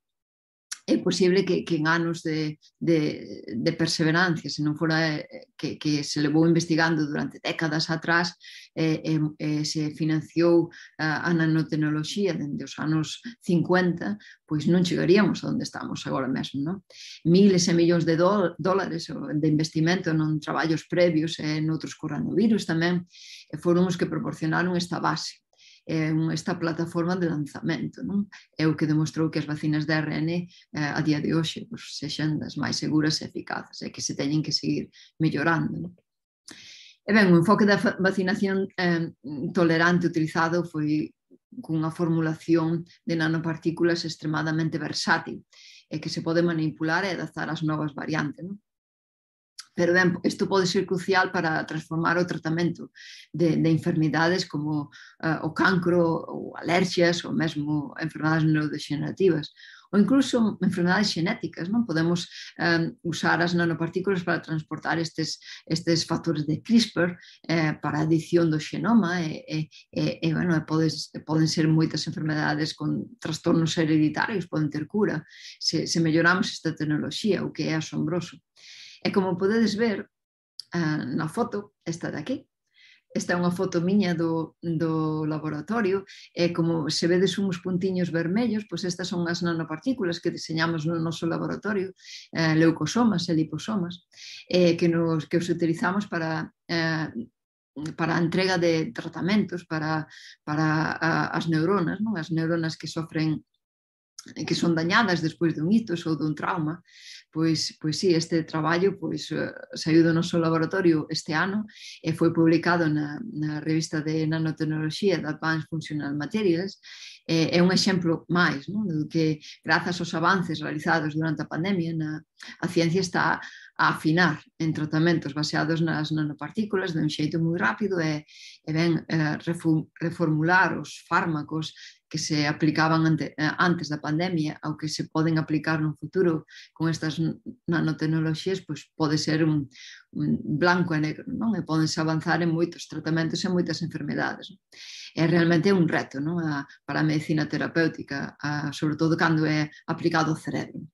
é posible que, que en anos de, de, de perseverancia, se non fora que, que se levou investigando durante décadas atrás, eh, eh, se financiou a, a nanotecnoloxía dende os anos cincuenta, pois non chegaríamos a onde estamos agora mesmo. Non? Miles e millóns de dólares de investimento non traballos previos e noutros coronavirus tamén foron os que proporcionaron esta base. é esta plataforma de lanzamento, non? É o que demostrou que as vacinas de R N eh, a día de hoxe pues, sexan das máis seguras e eficaces e que se teñen que seguir mellorando, non? E ben, o enfoque da vacinación eh, tolerante utilizado foi cunha formulación de nanopartículas extremadamente versátil e que se pode manipular e adaptar ás novas variantes, non? Pero ben, isto pode ser crucial para transformar o tratamento de, de enfermidades como uh, o cancro, ou alerxias, ou mesmo enfermedades neurodegenerativas, ou incluso enfermedades xenéticas, non? Podemos um, usar as nanopartículas para transportar estes, estes factores de CRISPR eh, para a edición do xenoma e, e, e, e bueno, podes, poden ser moitas enfermedades con trastornos hereditarios, poden ter cura se, se melloramos esta tecnoloxía, o que é asombroso. E como podedes ver uh, na foto, esta de aquí, esta é unha foto miña do, do laboratorio, e como se vedes uns puntiños vermellos, pois estas son as nanopartículas que diseñamos no noso laboratorio, eh, leucosomas e liposomas, eh, que, nos, que os utilizamos para... Eh, para a entrega de tratamentos para, para a, as neuronas, non? As neuronas que sofren que son dañadas despois dun ictus ou dun trauma, pois, pois sí, este traballo pois, saiu do noso laboratorio este ano e foi publicado na, na revista de nanotecnoloxía de Advanced Functional Materials. É, é un exemplo máis, non? Do que grazas aos avances realizados durante a pandemia na, a ciencia está a afinar en tratamentos baseados nas nanopartículas de un xeito moi rápido e, e ben eh, reformular os fármacos que se aplicaban ante, antes da pandemia ao que se poden aplicar no futuro con estas nanotecnoloxías, pois pode ser un, un blanco e negro, non? E podense avanzar en moitos tratamentos e moitas enfermedades. É realmente un reto, non? A, para a medicina terapéutica, a, sobre todo cando é aplicado ao cerebro.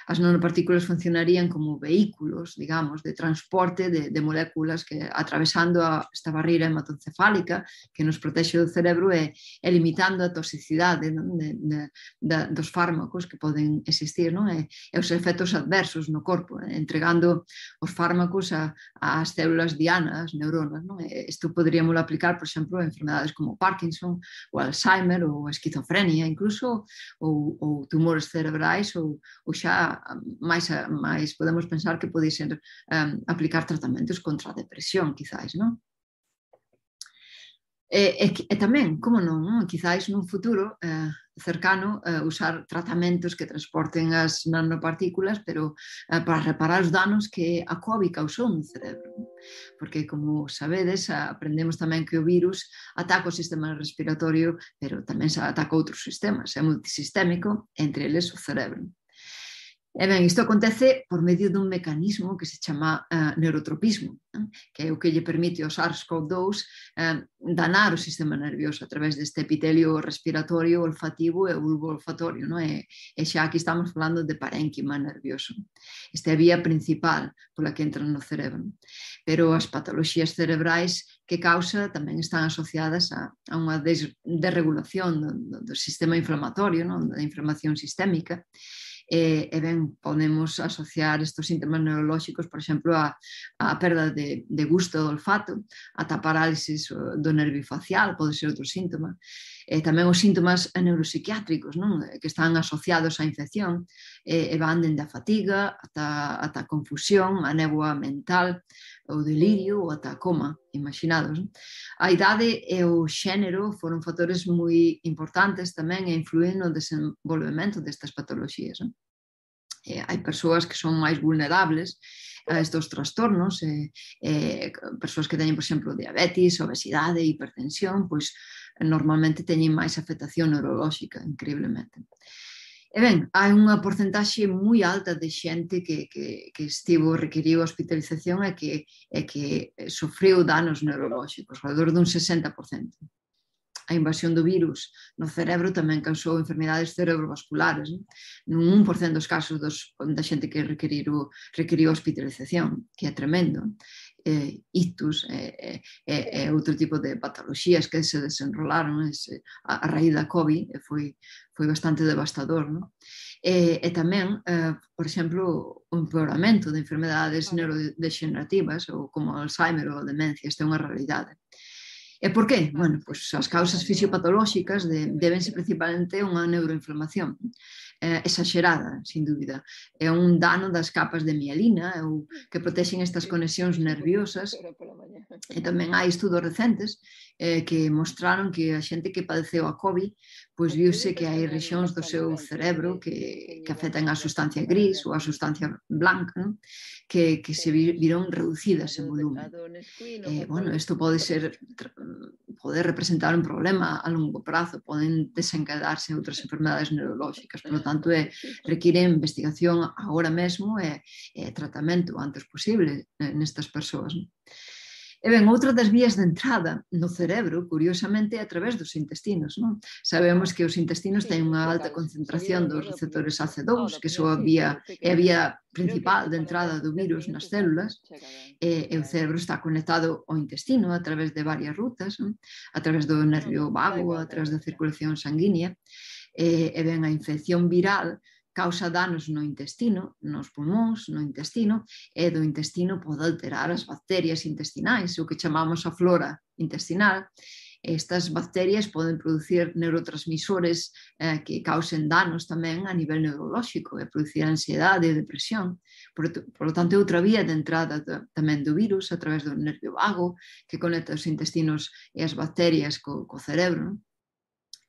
As nanopartículas funcionarían como vehículos, digamos, de transporte de, de moléculas que atravesando a, esta barreira hematoencefálica que nos protexe do cerebro e, e limitando a toxicidade, non? De, de, de, dos fármacos que poden existir, non? E, e os efectos adversos no corpo, eh? Entregando os fármacos a, ás células diana, as neuronas, non? E isto poderíamos aplicar, por exemplo, a enfermedades como Parkinson, ou Alzheimer, ou esquizofrenia, incluso, ou, ou tumores cerebrais, ou, ou xa máis, máis podemos pensar que pode ser um, aplicar tratamentos contra a depresión, quizáis, non? E, e, e tamén, como non, non? Quizáis nun futuro eh, cercano eh, usar tratamentos que transporten as nanopartículas, pero eh, para reparar os danos que a COVID causou no cerebro. Porque, como sabedes, aprendemos tamén que o virus ataca o sistema respiratorio, pero tamén se ataca outros sistemas, é multisistémico, entre eles o cerebro. E ben, isto acontece por medio dun mecanismo que se chama uh, neurotropismo, eh? Que é o que lle permite ao SARS-CoV dous uh, danar o sistema nervioso a través deste epitelio respiratorio, olfativo e bulbo olfatorio, non? E, e xa aquí estamos falando de parénquima nervioso. Esta é a vía principal pola que entra no cerebro. Pero as patoloxías cerebrais que causa tamén están asociadas a, a unha des, desregulación do, do sistema inflamatorio, non? Da inflamación sistémica. E, e ben, podemos asociar estes síntomas neurolóxicos, por exemplo, a, a perda de, de gusto do olfato, ata parálisis do nervio facial, pode ser outro síntoma. E tamén os síntomas neuropsiquiátricos, non? Que están asociados á infección e, e van dende a fatiga ata, ata a confusión, a néboa mental, o delirio ou ata a coma, imaginados. Non? A idade e o xénero foron factores moi importantes tamén e influen no desenvolvemento destas patoloxías. Non? E hai persoas que son máis vulnerables a estes trastornos, e, e persoas que teñen, por exemplo, diabetes, obesidade, hipertensión, pois normalmente teñen máis afectación neurolóxica, increíblemente. E ben, hai unha porcentaxe moi alta de xente que, que, que estivo requiriu hospitalización e que, e que sofreu danos neurolóxicos, alrededor dun sesenta por cento. A invasión do virus no cerebro tamén causou enfermidades cerebrovasculares, nun un por cento dos casos dos, da xente que requiriu, requiriu hospitalización, que é tremendo. Eh, ictus e eh, eh, eh, outro tipo de patoloxías que se desenrolaron ese, a, a raíz da COVID e foi, foi bastante devastador, non? E, e tamén, eh, por exemplo, o empeoramento de enfermedades neurodegenerativas ou como Alzheimer ou demencia, esta é unha realidade. E por qué? Bueno, pois as causas fisiopatolóxicas de, debense principalmente a unha neuroinflamación eh, exagerada, sin dúbida. É un dano das capas de mielina ou que protexen estas conexións nerviosas. E tamén hai estudos recentes eh, que mostraron que a xente que padeceu a COVID pois viuse que hai rexións do seu cerebro que, que afectan a sustancia gris ou a sustancia blanca, non? que, que se viron reducidas en volumen. Eh, bueno, isto pode ser pode representar un problema a longo prazo, poden desencadearse outras enfermedades neurolóxicas, por lo tanto, é, require investigación agora mesmo e, e tratamento o antes posible nestas persoas. E ben, outra das vías de entrada no cerebro, curiosamente, é a través dos intestinos. Non? Sabemos que os intestinos teñen unha alta concentración dos receptores A C dous, que son a vía, é a vía principal de entrada do virus nas células, e, e o cerebro está conectado ao intestino a través de varias rutas, non? A través do nervio vago, a través da circulación sanguínea, e, e ben, a infección viral causa danos no intestino, nos pulmóns, no intestino, e do intestino pode alterar as bacterias intestinais, o que chamamos a flora intestinal. Estas bacterias poden producir neurotransmisores eh, que causen danos tamén a nivel neurolóxico e producir ansiedade e depresión. Por, por lo tanto, é outra vía de entrada do, tamén do virus a través do nervio vago que conecta os intestinos e as bacterias co, co cerebro, non?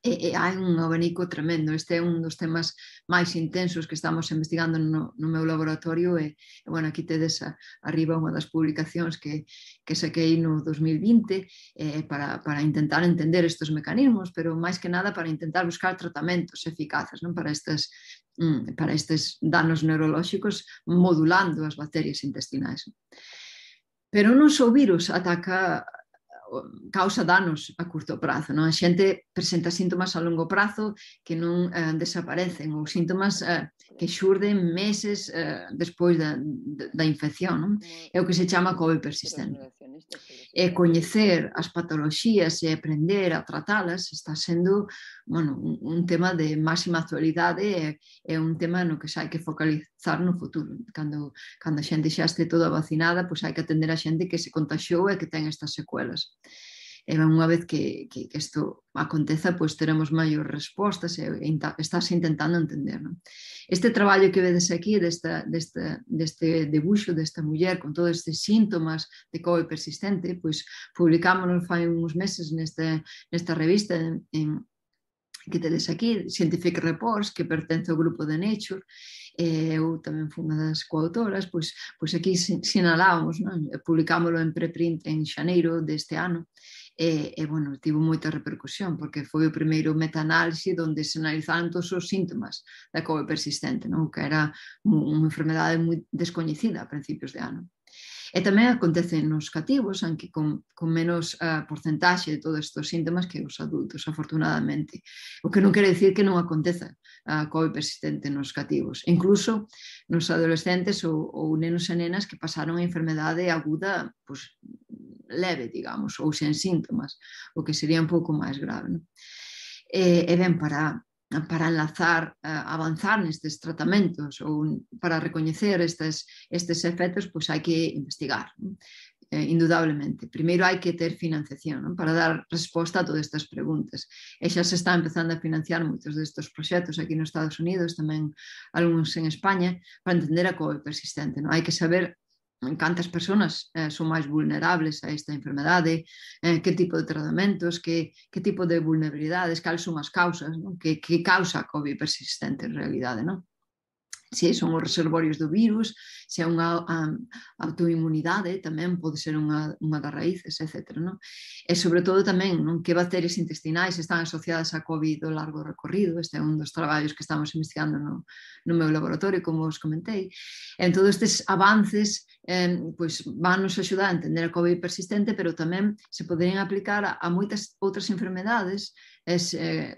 E, e hai un abanico tremendo. Este é un dos temas máis intensos que estamos investigando no, no meu laboratorio e, e bueno, aquí tedes a, arriba unha das publicacións que, que saquei no dos mil vinte eh, para, para intentar entender estes mecanismos, pero máis que nada para intentar buscar tratamentos eficaces, non? Para estes para estes danos neurolóxicos modulando as bacterias intestinais. Pero non só o virus ataca causa danos a curto prazo, non? A xente presenta síntomas a longo prazo que non eh, desaparecen ou síntomas eh, que xurden meses eh, despois da, da infección, non? É o que se chama COVID persistente. E coñecer as patoloxías e aprender a tratalas está sendo, bueno, un, un tema de máxima actualidade e é un tema no que se hai que focalizar no futuro. Cando, cando a xente xa este toda vacinada, pois hai que atender a xente que se contaxiou e que ten estas secuelas. E unha vez que, que, que isto aconteza, pois teremos maior respostas e, e estás intentando entender. Non? Este traballo que vedes aquí, desta, desta, deste debuxo desta muller con todos estes síntomas de COVID persistente, pois publicámonos fai uns meses nesta, nesta revista en, en que tedes aquí, Scientific Reports, que pertence ao grupo de Nature, e eu tamén fui unha das coautoras, pois, pois aquí sinalábamos, non? Publicámoslo en preprint en xaneiro deste ano, e, e bueno, tivo moita repercusión, porque foi o primeiro metaanálise onde se analizaron todos os síntomas da COVID persistente, non? Que era unha enfermedade moi descoñecida a principios de ano. E tamén acontece nos cativos, aunque con, con menos uh, porcentaxe de todos estes síntomas que os adultos, afortunadamente. O que non quere dicir que non aconteza a COVID persistente nos cativos. Incluso nos adolescentes ou, ou nenos e nenas que pasaron a enfermedade aguda pues, leve, digamos, ou sen síntomas, o que sería un pouco máis grave. Non? E, e ben, para... para enlazar, uh, avanzar nestes tratamentos ou para recoñecer estes, estes efectos, pois hai que investigar, non? Eh, indudablemente. Primeiro hai que ter financiación, non? Para dar resposta a todas estas preguntas. E xa se está empezando a financiar moitos destes proxectos aquí nos Estados Unidos, tamén algúns en España, para entender a COVID persistente. Non? Hai que saber cantas persoas eh, son máis vulnerables a esta enfermedade, eh, que tipo de tratamentos, que, que tipo de vulnerabilidades, cales son as causas, non? Que, que causa a COVID persistente en realidade, non? Se son os reservorios do virus, se é unha um, autoinmunidade, tamén pode ser unha, unha das raíces, etcétera. Non? E sobre todo tamén non? Que bacterias intestinais están asociadas a COVID ao largo recorrido. Este é un dos traballos que estamos investigando no, no meu laboratorio, como os comentei. En todos estes avances eh, pois, van nos axudar a entender a COVID persistente, pero tamén se poderían aplicar a, a moitas outras enfermedades es, eh,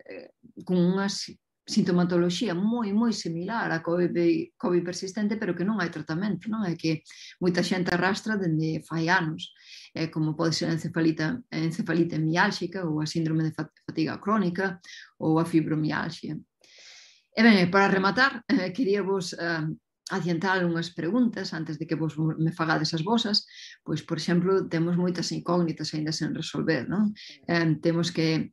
con unhas sintomatoloxía moi, moi similar a COVID, COVID persistente, pero que non hai tratamento, non? É que moita xente arrastra dende fai anos, eh, como pode ser a encefalita, a encefalite miálxica ou a síndrome de fatiga crónica ou a fibromialxia. E ben, para rematar, eh, quería vos eh, adiantar unhas preguntas antes de que vos me fagades as vosas, pois, por exemplo, temos moitas incógnitas ainda sen resolver, non? Eh, temos que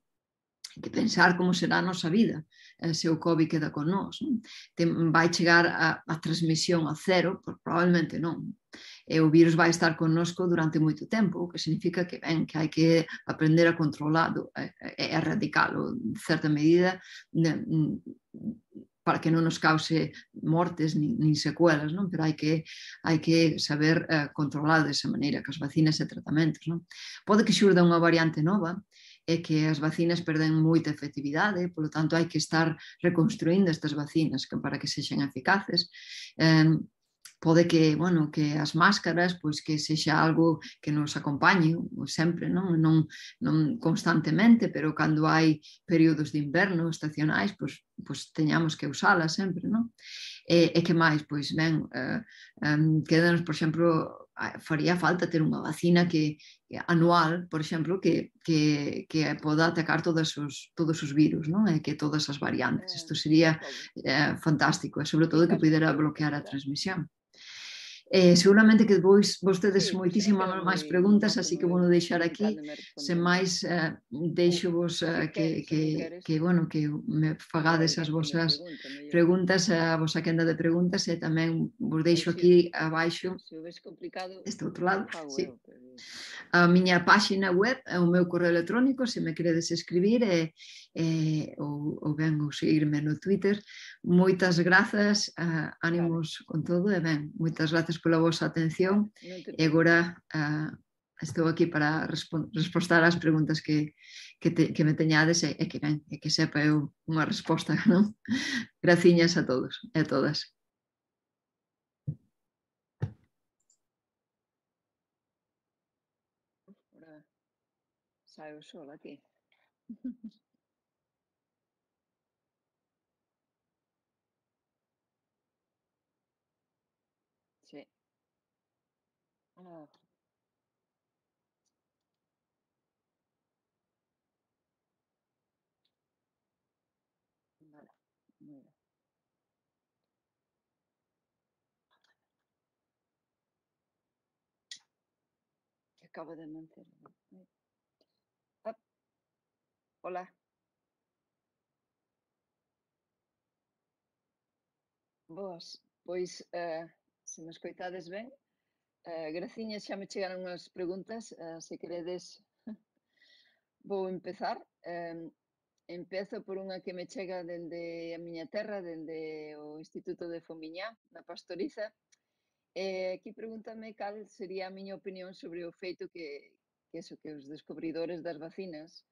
que pensar como será a nosa vida eh, se o COVID queda con nós. Non? Tem, vai chegar a, a transmisión a cero? Por, probablemente non. E o virus vai estar connosco durante moito tempo, o que significa que, ben, que hai que aprender a controlalo e, e erradicalo, en certa medida, ne, para que non nos cause mortes nin, nin secuelas, non? Pero hai que, hai que saber eh, controlar desa maneira, que as vacinas e tratamentos. Non? Pode que xurda unha variante nova, é que as vacinas perden moita efectividade, polo tanto hai que estar reconstruindo estas vacinas que, para que sexan eficaces. Eh, pode que, bueno, que as máscaras, pois que sexa algo que nos acompañe sempre, non? Non, non constantemente, pero cando hai períodos de inverno estacionais, pois, pois teñamos que usalas sempre, non? E, e que máis? Pois ben, eh, um, quedanos, por exemplo, faría falta ter unha vacina que anual, por exemplo, que, que, que poda atacar todos os, todos os virus, non? E que todas as variantes. Isto sería eh, fantástico, e sobre todo que pudera bloquear a transmisión. Eh, seguramente que vos, vos tedes sí, moitísimas máis preguntas, así que vou deixar aquí. Sen máis, eh, deixo vos eh, que, que, que, bueno, que me fagades as vosas preguntas, a vosa quenda de preguntas, e tamén vos deixo aquí abaixo, este outro lado, sí, a miña páxina web, o meu correo electrónico, se me queredes escribir, e, e, ou, ou ben, ou seguirme no Twitter. Moitas grazas, uh, ánimos con todo, e ben, moitas grazas pola vosa atención, e agora uh, estou aquí para respostar ás preguntas que, que, te, que me teñades, e, e que ben, e que sepa eu unha resposta, non? Graciñas a todos e a todas. Ahora saio sola aquí. Sí. Ah. Vale, muy bien. Que acabo de manter. Ah. Hola. Boas, pois, eh, se me escoitades ben, eh, graciñas, xa me chegaron unhas preguntas, eh, se queredes vou empezar. Eh, empezo por unha que me chega dende a miña terra, dende o Instituto de Fomiñá, na Pastoriza. Eh, aquí pregúntame cal sería a miña opinión sobre o feito que, que, eso, que os descubridores das vacinas,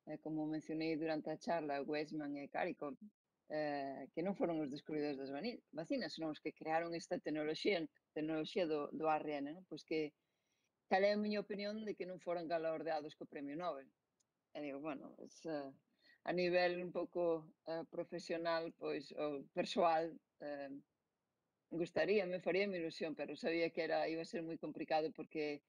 eh, como mencionei durante a charla, Weizmann e Caricom, eh, que non foron os descubridores das vacinas, senón os que crearon esta tecnoloxía, tecnoloxía do, do A R N, non? Pois que cal é a miña opinión de que non foran galardeados co Premio Nobel. E digo, bueno, pues, uh, a nivel un pouco uh, profesional, pois, ou persoal, uh, gustaría, me faría mi ilusión, pero sabía que era iba a ser moi complicado porque,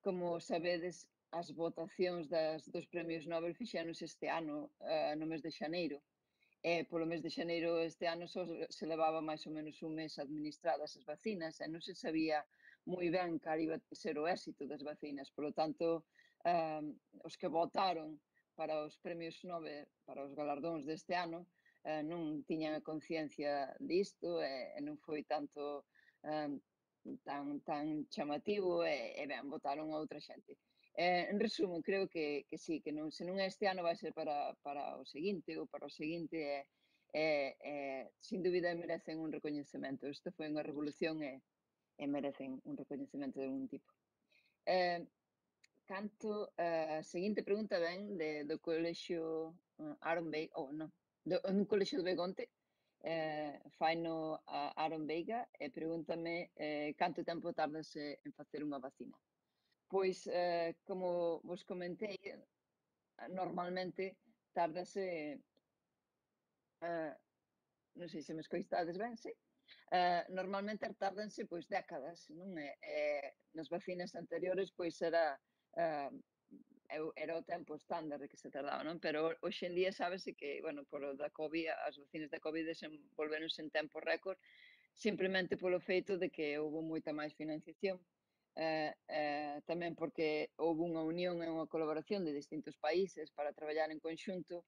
como sabedes, as votacións das, dos premios Nobel fixéronse este ano, uh, no mes de xaneiro. E polo mes de xaneiro este ano só se levaba máis ou menos un mes administradas as vacinas e non se sabía moi ben cal iba a ser o éxito das vacinas. Por lo tanto, uh, os que votaron para os premios Nobel, para os galardóns deste ano, uh, non tiñan a conciencia disto e, e non foi tanto uh, tan, tan chamativo e, e ben, votaron a outra xente. Eh, en resumo, creo que, que sí, que non, se non é este ano vai ser para, para o seguinte ou para o seguinte e, e, e sin dúbida merecen un recoñecemento. Isto foi unha revolución e, e merecen un recoñecemento de algún tipo. Eh, canto, a uh, seguinte pregunta ven de, do colexio uh, Aaron Veiga, ou oh, non, do, un colexio de Begonte, eh, fai no uh, Aaron Veiga e pregúntame eh, canto tempo tardase en facer unha vacina. Pois, eh, como vos comentei, normalmente tárdase, uh, non sei se me escoitades ben, sí? Uh, normalmente tárdanse pois décadas, non é? Eh, nas vacinas anteriores pois era uh, era o tempo estándar de que se tardaba, non? Pero hoxe en día sábese que, bueno, por o da COVID, as vacinas da COVID desenvolveronse en tempo récord simplemente polo feito de que houve moita máis financiación, eh, eh, tamén porque houve unha unión e unha colaboración de distintos países para traballar en conxunto,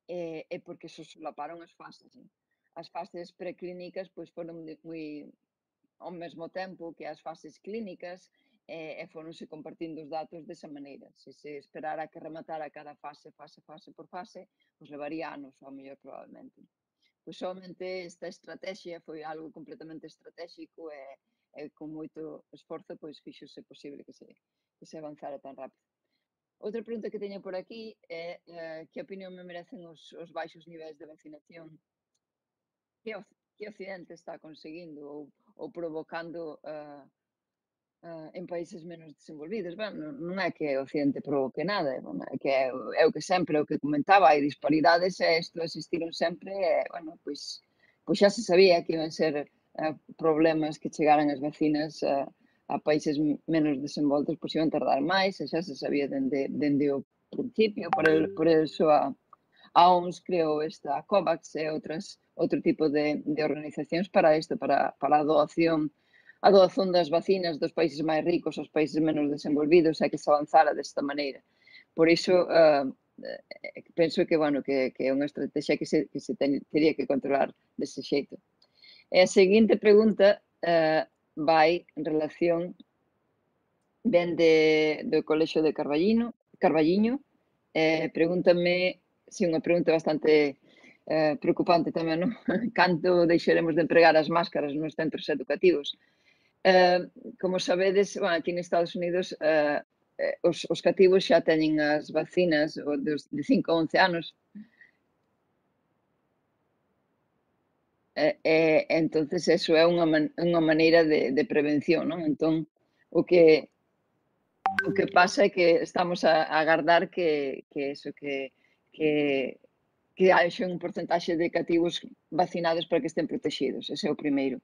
e, e porque se solaparon as fases. Eh? As fases preclínicas pois foron moi ao mesmo tempo que as fases clínicas, e, e foronse compartindo os datos desa maneira. Se se esperara que rematara cada fase, fase, fase por fase, pois levaría anos, ao mellor probablemente. Pois somente esta estrategia foi algo completamente estratégico e, e con moito esforzo pois fixose posible que se, que se avanzara tan rápido. Outra pregunta que teño por aquí é eh, que opinión me merecen os, os baixos niveis de vacinación que o, que o Occidente está conseguindo ou, ou provocando uh, uh, en países menos desenvolvidos. Bueno, non, non é que o Occidente provoque nada, bueno, é que é, é o que sempre, o que comentaba, hai disparidades e isto existiron sempre e, bueno, pois, pois xa se sabía que iban ser uh, problemas que chegaran as vacinas uh, a países menos desenvoltos, pois iban tardar máis, e xa se sabía dende, dende o principio, por, el, por eso a, a O M S creou esta COVAX e outras, outro tipo de, de organizacións para isto, para, para a doación a doación das vacinas dos países máis ricos aos países menos desenvolvidos e que se avanzara desta maneira. Por iso, uh, penso que, bueno, que, que é unha estrategia que se, que se ten, teria que controlar dese xeito. E a seguinte pregunta uh, vai en relación ben de, do Colexio de Carballiño, Carballiño eh, pregúntame, si unha pregunta bastante eh, preocupante tamén, non? Canto deixaremos de empregar as máscaras nos centros educativos? Uh, como sabedes, bueno, aquí en Estados Unidos uh, os, os cativos xa teñen as vacinas dos, de cinco a once anos e, e entonces eso é unha, man, unha maneira de, de prevención, non? Entón, o que o que pasa é que estamos a, a agardar que, que eso, que, que que haxe un porcentaxe de cativos vacinados para que estén protegidos, ese é o primeiro.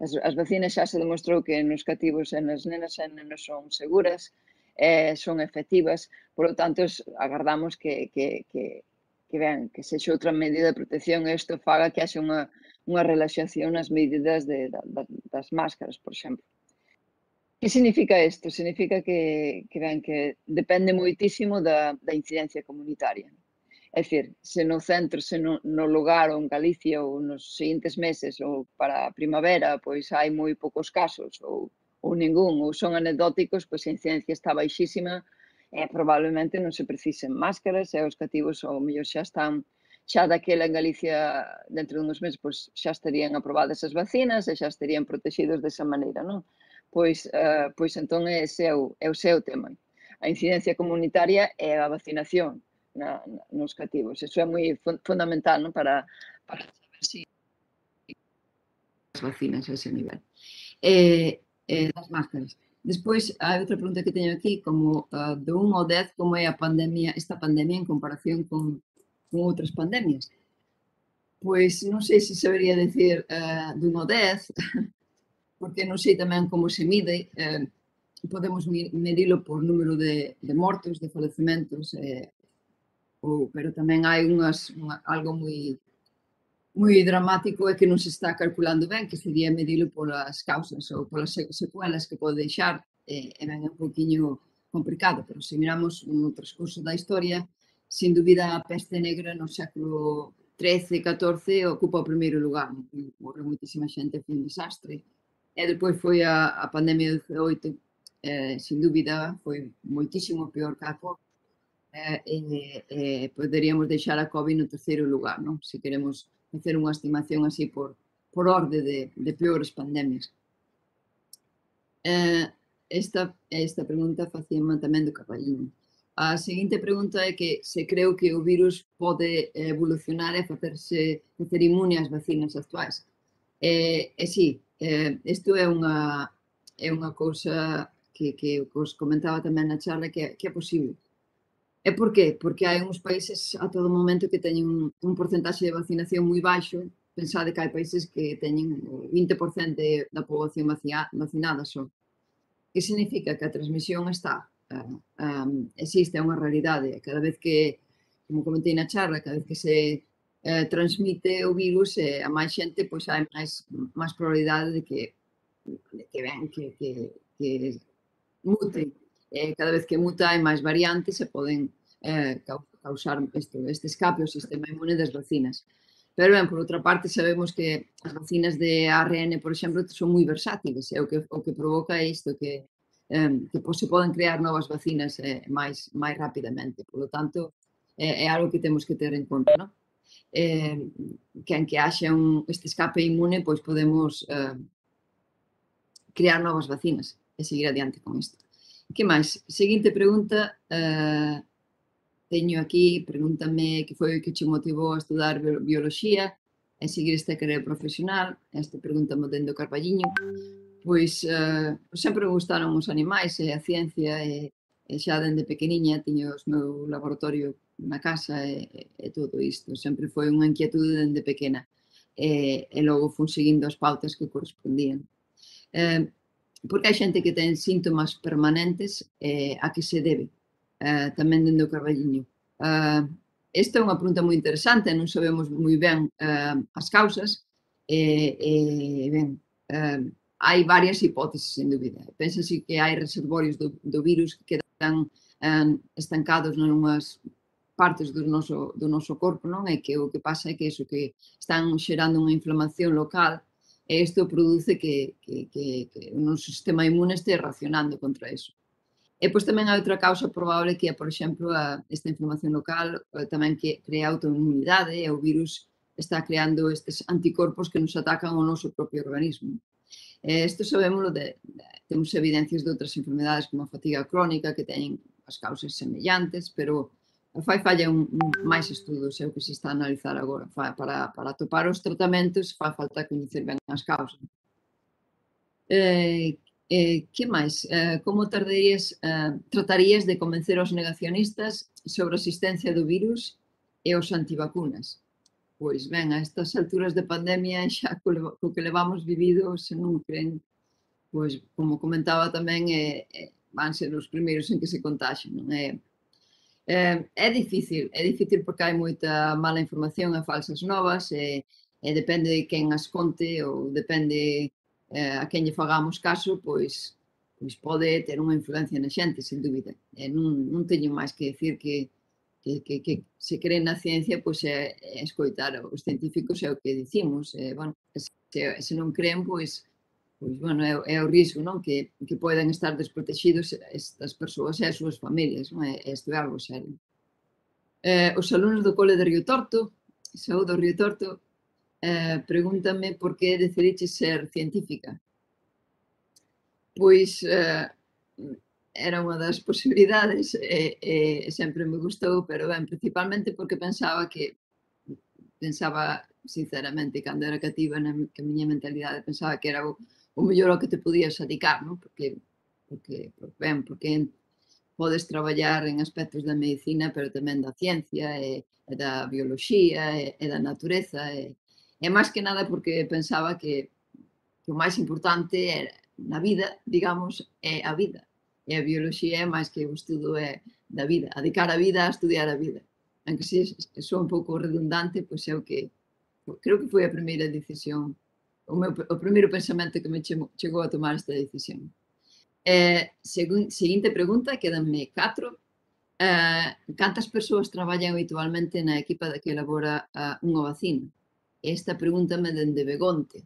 As, as vacinas xa se demostrou que nos cativos e nas nenas e nenos son seguras, eh, son efectivas, por lo tanto, agardamos que, que, que, que vean, que sexa outra medida de protección e isto faga que haxe unha, unha relaxación nas medidas de, da, das máscaras, por exemplo. Que significa isto? Significa que, que, vean, que depende moitísimo da, da incidencia comunitaria. É dicir, se no centro, se no, no lugar ou en Galicia ou nos seguintes meses ou para a primavera, pois hai moi poucos casos ou, ou ningún, ou son anecdóticos, pois a incidencia está baixísima e probablemente non se precisen máscaras e os cativos ou mellor xa están, xa daquela en Galicia dentro de uns meses pois xa estarían aprobadas as vacinas e xa estarían protegidos desa maneira, non? Pois, uh, pois entón ese é o, é o seu tema. A incidencia comunitaria é a vacinación na, na, nos cativos. Eso é moi fun fundamental, non? Para, para saber se si as vacinas a ese nivel. Eh, eh, das máscaras. Despois, hai outra pregunta que teño aquí, como uh, de un ao dez, como é a pandemia, esta pandemia en comparación con, con outras pandemias? Pois non sei se sabería decir uh, de un ao dez, porque non sei tamén como se mide, eh, podemos medilo por número de, de mortos, de falecementos, eh, ou, pero tamén hai unhas, unha, algo moi moi dramático é que non se está calculando ben, que sería medilo polas causas ou polas secuelas que pode deixar, eh, e ben é un poquinho complicado, pero se miramos no transcurso da historia, sin dúbida a peste negra no século trece, catorce ocupa o primeiro lugar, morreu moitísima xente, foi un desastre, e depois foi a, a pandemia do dezaoito, eh, sin dúbida foi moitísimo peor que a COVID, eh, eh, eh, poderíamos deixar a COVID no terceiro lugar, non? Se queremos facer unha estimación así por, por orde de, de peores pandemias. Eh, esta, esta pregunta facíame tamén do Carballiño. A seguinte pregunta é que se creo que o virus pode evolucionar e facerse facer inmune ás vacinas actuais. Eh, e sí, eh, isto é unha, é unha cousa que, que os comentaba tamén na charla que, que é posible. E por qué? Porque hai uns países a todo momento que teñen un, un porcentaxe de vacinación moi baixo. Pensade que hai países que teñen vinte por cento de, da poboación vacinada só. Que significa que a transmisión está, uh, um, existe, é unha realidade. Cada vez que, como comentei na charla, cada vez que se eh, transmite o virus e a máis xente, pois hai máis, máis probabilidade de que, de que, ben, que, que, que mute. Eh, cada vez que muta hai máis variantes e poden eh, causar este, este escape ao sistema inmune das vacinas. Pero, ben, por outra parte, sabemos que as vacinas de A R N, por exemplo, son moi versátiles, e o que, o que provoca é isto, que, eh, que pois, se poden crear novas vacinas eh, máis, máis rapidamente. Por lo tanto, é, é algo que temos que ter en conta, non? Eh, que en que haxa un, este escape inmune, pois podemos eh, crear novas vacinas e seguir adiante con isto. Que máis? Seguinte pregunta, eh, teño aquí, pregúntame que foi o que che motivou a estudar bioloxía e seguir esta carreira profesional. Esta pregunta mo dendo Carballiño. Pois eh, sempre me gustaron os animais e a ciencia e, e xa dende pequeniña tiño o meu laboratorio na casa e, e todo isto. Sempre foi unha inquietude dende pequena e, e logo fun seguindo as pautas que correspondían. Eh, porque hai xente que ten síntomas permanentes eh, a que se debe, eh, tamén dende o Carballiño. Uh, esta é unha pregunta moi interesante, non sabemos moi ben uh, as causas, e, e ben, uh, hai varias hipóteses, sen dúbida. Pénsase que hai reservorios do, do virus que quedan uh, estancados nunhas partes do noso, do noso corpo, non? E que o que pasa é que iso, que están xerando unha inflamación local e isto produce que, que, que, que o noso sistema inmune este reaccionando contra iso. E pois tamén hai outra causa probable que é, por exemplo, a, esta inflamación local tamén que crea autoinmunidade e o virus está creando estes anticorpos que nos atacan ao noso propio organismo. E isto sabémoslo, de, de, temos evidencias de outras enfermedades como a fatiga crónica que teñen as causas semellantes, pero fai falla un, un, máis estudos, é o que se está a analizar agora. Para, para atopar os tratamentos fai falta coñecer ben as causas. Eh, Eh, que máis? Eh, como tardarías, eh, tratarías de convencer os negacionistas sobre a existencia do virus e os antivacunas? Pois ben, a estas alturas de pandemia xa co, co que levamos vivido, se non creen, pois como comentaba tamén, eh, eh, van ser os primeiros en que se contaxen, non é? Eh, é difícil, é difícil porque hai moita mala información e falsas novas e, e depende de quen as conte ou depende eh, a quen lle fagamos caso, pois, pois pode ter unha influencia na xente, sen dúbida. E non, non teño máis que decir que, que, que, que se creen na ciencia, pois é, é escoitar os científicos é o que dicimos. E, bueno, se, se non creen, pois, pois, bueno, é, é o risco, non? Que, que poden estar desprotegidos estas persoas e as súas familias, non? E isto é algo serio. Eh, os alumnos do cole de Río Torto, saúdo Río Torto, eh, pregúntame por que decidiche ser científica. Pois eh, era unha das posibilidades e, e sempre me gustou, pero ben, principalmente porque pensaba que, pensaba sinceramente, cando era cativa na que a miña mentalidade, pensaba que era o, o mellor ao que te podías dedicar, non? Porque, porque, ben, porque podes traballar en aspectos da medicina, pero tamén da ciencia e, e da bioloxía e, e da natureza e, e máis que nada porque pensaba que, que o máis importante era, na vida, digamos, é a vida. E a bioloxía é máis que o estudo é da vida, a dedicar a vida a estudiar a vida. Aunque se sou un pouco redundante, pois é o que, creo que foi a primeira decisión, o, meu, o primeiro pensamento que me chegou a tomar esta decisión. Eh, segun, seguinte pregunta, quedanme catro. Eh, cantas persoas traballan habitualmente na equipa que elabora uh, unha vacina? Esta pregunta me dende Begonte.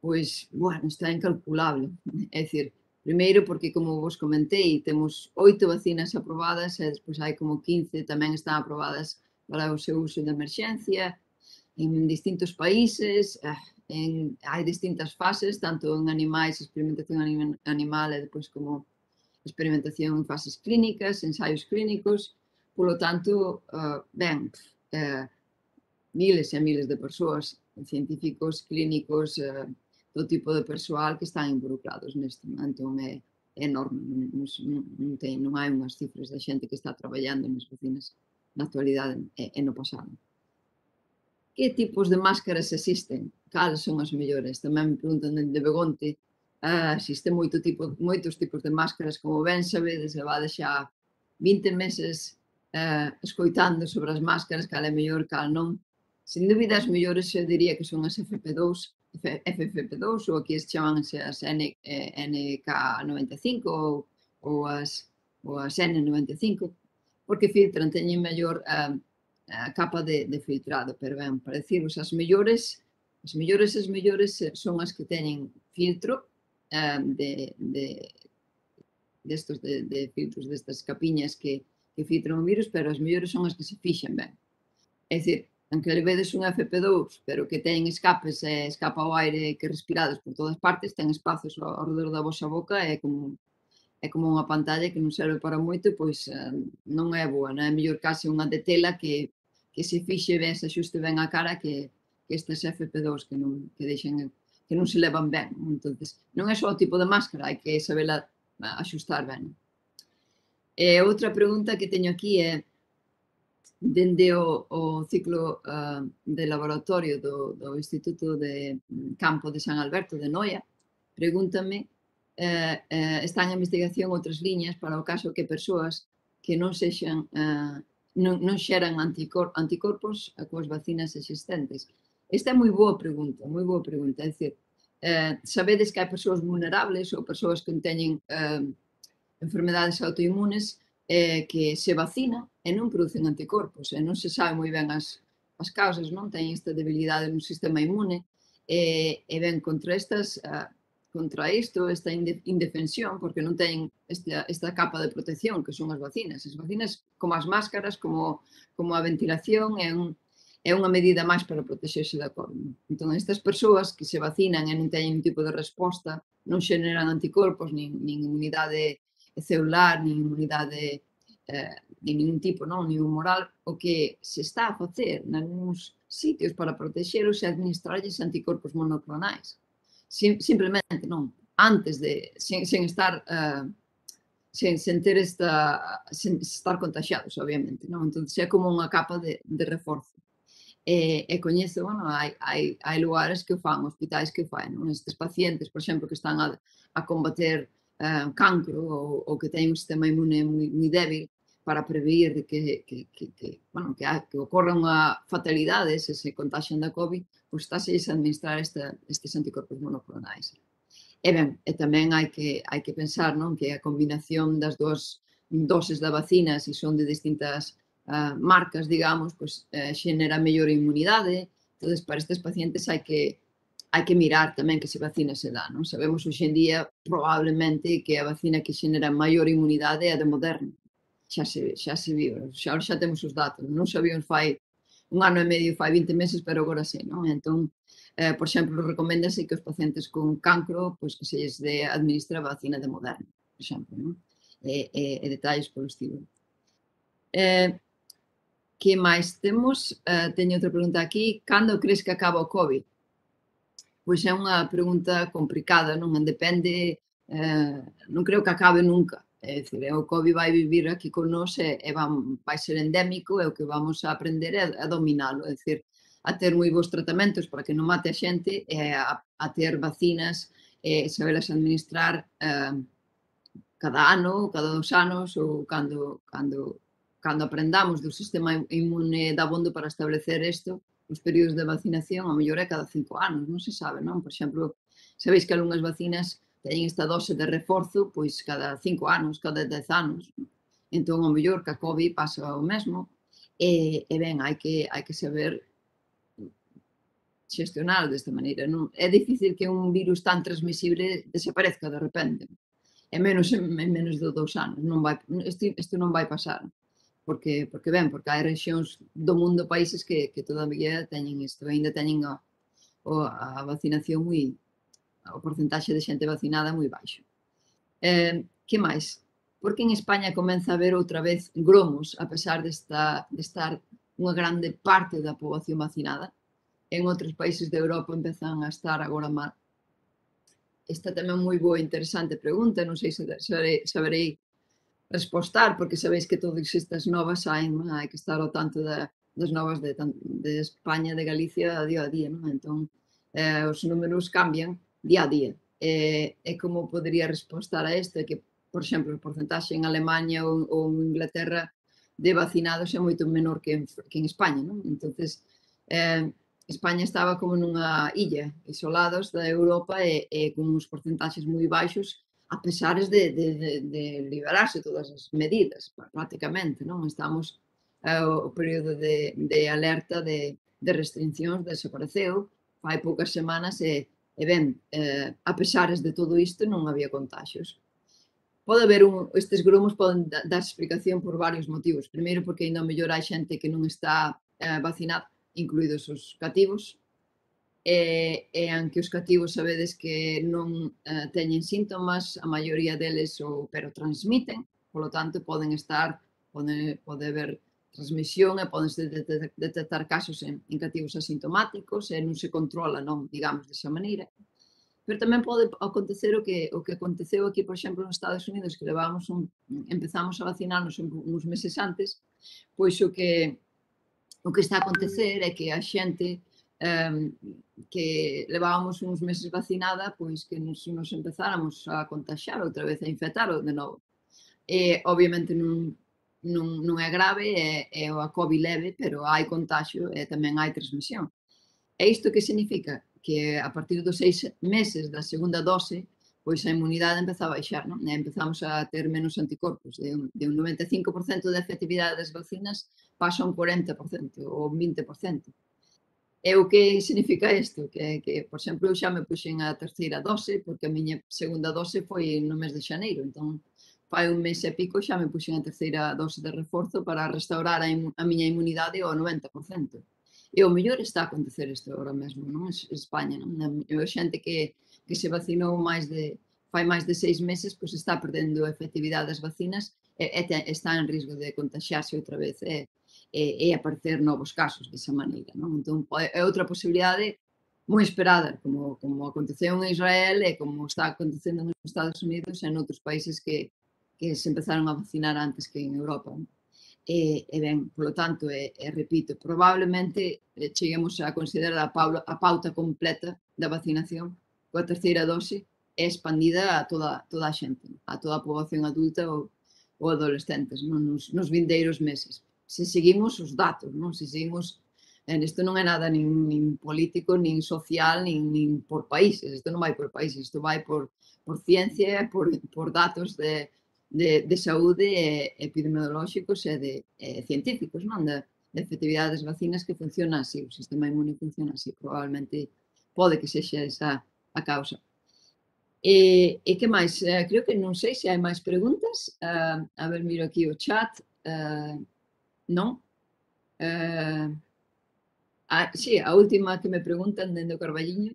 Pois, bueno, está incalculable. É dicir, primeiro porque, como vos comentei, temos oito vacinas aprobadas e despois hai como quince tamén están aprobadas para o seu uso de emerxencia en distintos países, en, hai distintas fases, tanto en animais, experimentación animal e depois como experimentación en fases clínicas, ensaios clínicos, polo tanto, uh, ben, uh, miles e miles de persoas, científicos, clínicos, uh, todo tipo de persoal que están involucrados neste, entón é, é enorme, non, non, non, ten, non hai unhas cifras de xente que está traballando nas vacinas na actualidade e, e no pasado. Que tipos de máscaras existen? Cales son as mellores? Tamén me preguntan de Begonte. Uh, existe moito tipo, moitos tipos de máscaras, como ben sabedes, levade xa vinte meses uh, escoitando sobre as máscaras, cal é mellor, cal non. Sin dúbida, as mellores eu diría que son as F P dous, F F P dous, ou aquí se chamanse as N, eh, N K noventa e cinco ou, ou, as, ou as N noventa e cinco, porque filtran, teñen mellor a, a capa de, de filtrado, pero ben, para deciros, as mellores, as mellores, as mellores son as que teñen filtro eh, de, de, destos de, de filtros, destas capiñas que, que filtran o virus, pero as mellores son as que se fixen ben. É dicir, aunque levedes un F P dous, pero que ten escapes e escapa o aire que respirades por todas partes, ten espazos ao redor da vosa boca, é como, é como unha pantalla que non serve para moito, pois non é boa, non é mellor case unha de tela que, que se fixe ben, se axuste ben a cara que, que estas F P dous que non, que deixen, que non se levan ben. Entonces, non é só o tipo de máscara, hai que sabela axustar ben. E outra pregunta que teño aquí é, dende o, o ciclo uh, de laboratorio do, do Instituto de Campo de San Alberto de Noia, pregúntame, eh, eh, están en investigación outras liñas para o caso que persoas que non sexan, uh, non, non xeran anticor, anticorpos coas vacinas existentes. Esta é moi boa pregunta, moi boa pregunta. É dicir, eh, sabedes que hai persoas vulnerables ou persoas que teñen eh, enfermedades autoinmunes eh, que se vacinan e non producen anticorpos, e non se sabe moi ben as, as causas, non teñen esta debilidade no sistema inmune, e, e ben contra estas, uh, contra isto, esta indefensión, porque non teñen esta, esta capa de protección que son as vacinas. As vacinas, como as máscaras, como, como a ventilación, é, un, é unha medida máis para protexerse da COVID. Entón, estas persoas que se vacinan e non teñen un tipo de resposta, non xeneran anticorpos, nin, nin inmunidade celular, nin inmunidade eh, de ningún tipo, non, nin moral, o que se está a facer nalgúns sitios para protexeros e administrarlles anticorpos monoclonais. Sim, simplemente, non, antes de, sen, sen estar, uh, sen, sen ter esta, sen estar contagiados, obviamente, non? Entón, é como unha capa de, de reforzo. E, e coñezo, bueno, hai, hai, hai lugares que o fan, hospitais que o fan, non? Estes pacientes, por exemplo, que están a, a combater Uh, cancro ou, ou que teñen un sistema inmune moi, moi débil para prevenir de que, que, que, que, bueno, que, que ocorra unha fatalidade se se contaxian da COVID, pois estáse a administrar esta, estes anticorpos monoclonais. E ben, e tamén hai que, hai que pensar, non, que a combinación das dúas doses da vacina, se son de distintas uh, marcas, digamos, pois eh, xenera mellor inmunidade. Entón, para estes pacientes hai que hai que mirar tamén que se vacina se dá, non? Sabemos hoxe en día, probablemente, que a vacina que xenera maior inmunidade é a de Moderna. Xa se, xa se viu, xa, xa temos os datos. Non sabíamos fai un ano e medio, fai vinte meses, pero agora sí, non? Entón, eh, por exemplo, recoméndase que os pacientes con cancro, pois que se lles de administra a vacina de Moderna, por exemplo, non? E, e, e detalles polo estilo. Eh, que máis temos? Eh, teño outra pregunta aquí. Cando crees que acaba o COVID? Pois é unha pregunta complicada, non? Depende, eh, non creo que acabe nunca. É dicir, o COVID vai vivir aquí con nós e, e van, vai ser endémico e o que vamos a aprender é a dominalo. É dicir, a ter moi bons tratamentos para que non mate a xente e a, a ter vacinas e sabelas administrar eh, cada ano, cada dos anos ou cando, cando, cando aprendamos do sistema inmune dabondo para establecer isto. Os períodos de vacinación, a mellor é cada cinco anos, non se sabe, non? Por exemplo, sabéis que algunhas vacinas teñen esta dose de reforzo, pois cada cinco anos, cada dez anos. Entón, a mellor que a COVID pasa o mesmo, e, e ben, hai que, hai que saber xestionar desta maneira, non? É difícil que un virus tan transmisible desaparezca de repente, e menos en, en menos de dous anos, non vai, isto, isto non vai pasar. Porque, porque ben, porque hai rexións do mundo, países que, que todavía teñen isto, ainda teñen a, a vacinación moi, o porcentaxe de xente vacinada moi baixo. Eh, que máis? Porque en España comeza a haber outra vez gromos, a pesar de, esta, de estar unha grande parte da poboación vacinada. En outros países de Europa empezan a estar agora mal. Esta tamén moi boa e interesante pregunta, non sei se saberei, saberei respostar, porque sabéis que todas estas novas saen, non? Hai que estar ao tanto de, das novas de, de España, de Galicia, día a día, non? Entón, eh, os números cambian día a día. E, e como podería respostar a isto? Que, por exemplo, o porcentaxe en Alemanha ou, ou en Inglaterra de vacinados é moito menor que en, que en España, non? Entonces, eh, España estaba como nunha illa, isolados da Europa e, e con uns porcentaxes moi baixos, a pesares de, de, de, de liberarse todas as medidas, prácticamente, non? Estamos, eh, o período de, de alerta de, de restriccións desapareceu, fai poucas semanas e, e ben, eh, a pesares de todo isto non había contagios. Pode haber un, estes grumos poden dar explicación por varios motivos. Primeiro, porque ainda mellor hai xente que non está eh, vacinada, incluídos os cativos, e, e aunque os cativos sabedes que non eh, teñen síntomas, a maioría deles o, pero transmiten, polo tanto poden estar, pode, pode haber transmisión e podense detectar casos en, en cativos asintomáticos e non se controla, non, digamos, desa maneira. Pero tamén pode acontecer o que, o que aconteceu aquí, por exemplo, nos Estados Unidos, que levamos un, empezamos a vacinarnos uns meses antes, pois o que, o que está a acontecer é que a xente um, que levábamos uns meses vacinada, pois que nos, nos empezáramos a contagiar outra vez, a infectar de novo. E, obviamente, non, non, non é grave, é, é a COVID leve, pero hai contagio e tamén hai transmisión. E isto que significa? Que a partir dos seis meses da segunda dose, pois a inmunidade empeza a baixar, non? E empezamos a ter menos anticorpos. De un, de un noventa e cinco por cento de efectividade das vacinas pasa a un cuarenta por cento ou vinte por cento. E o que significa isto? Que, que, por exemplo, eu xa me puxen a terceira dose, porque a miña segunda dose foi no mes de xaneiro, entón fai un mes e pico xa me puxen a terceira dose de reforzo para restaurar a, a miña inmunidade ao noventa por cento. E o mellor está a acontecer isto agora mesmo, non? En España, non? A xente que, que se vacinou máis de, fai máis de seis meses, pois está perdendo a efectividade das vacinas e, e te, está en risco de contagiarse outra vez e, e, e aparecer novos casos desa maneira, non? Entón, é outra posibilidade moi esperada, como, como aconteceu en Israel e como está acontecendo nos Estados Unidos e en outros países que, que se empezaron a vacinar antes que en Europa, non? E, e ben, polo tanto, e, e repito, probablemente cheguemos a considerar a, paula, a pauta completa da vacinación coa terceira dose é expandida a toda, toda a xente, a toda a poboación adulta ou, ou adolescentes, non? Nos, nos vindeiros meses. Se seguimos os datos, non? Se seguimos, en isto non é nada nin, nin político, nin social, nin, nin por países, isto non vai por países, isto vai por, por ciencia, por, por datos de De, de saúde e epidemiolóxicos e de e científicos, non? Da, de efectividade das vacinas que funciona así, o sistema inmune funciona así, probablemente pode que sexa esa a causa. E, e que máis? Eh, creo que non sei se hai máis preguntas. Uh, a ver, miro aquí o chat. Uh, non? Uh, ah, sí, a última que me preguntan dende o Carballiño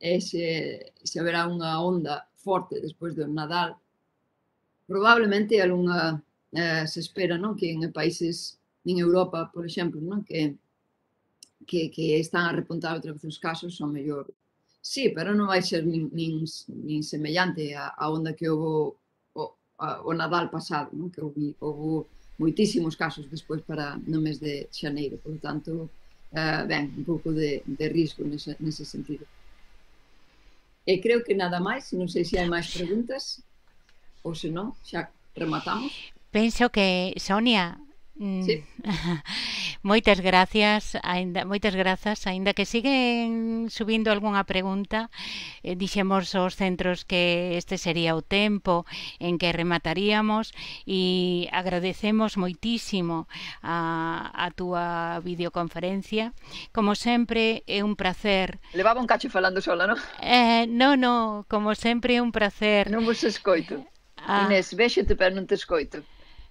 é se, se haberá unha onda forte despois do Nadal. Probablemente algunha eh, se espera, non? Que en países, en Europa, por exemplo, non? Que, que, que están a repuntar outra vez os casos, son mellor. Sí, pero non vai ser nin, nin, nin semellante a, a onda que houve o, a, o Nadal pasado, non? Que houve, houve moitísimos casos despois para no mes de xaneiro, por tanto, eh, ben, un pouco de, de risco nese, nese sentido. E creo que nada máis, non sei se hai máis preguntas. Ou se non, xa rematamos. Penso que, Sonia, sí. moitas gracias, ainda, moitas grazas, aínda que siguen subindo algunha pregunta, eh, dixemos aos centros que este sería o tempo en que remataríamos e agradecemos moitísimo a, a túa videoconferencia. Como sempre, é un placer. Levaba un cacho falando sola, non? Eh, non, non, como sempre é un placer. Non vos escoito. Ah. Inés, véxete, pero non te escoito.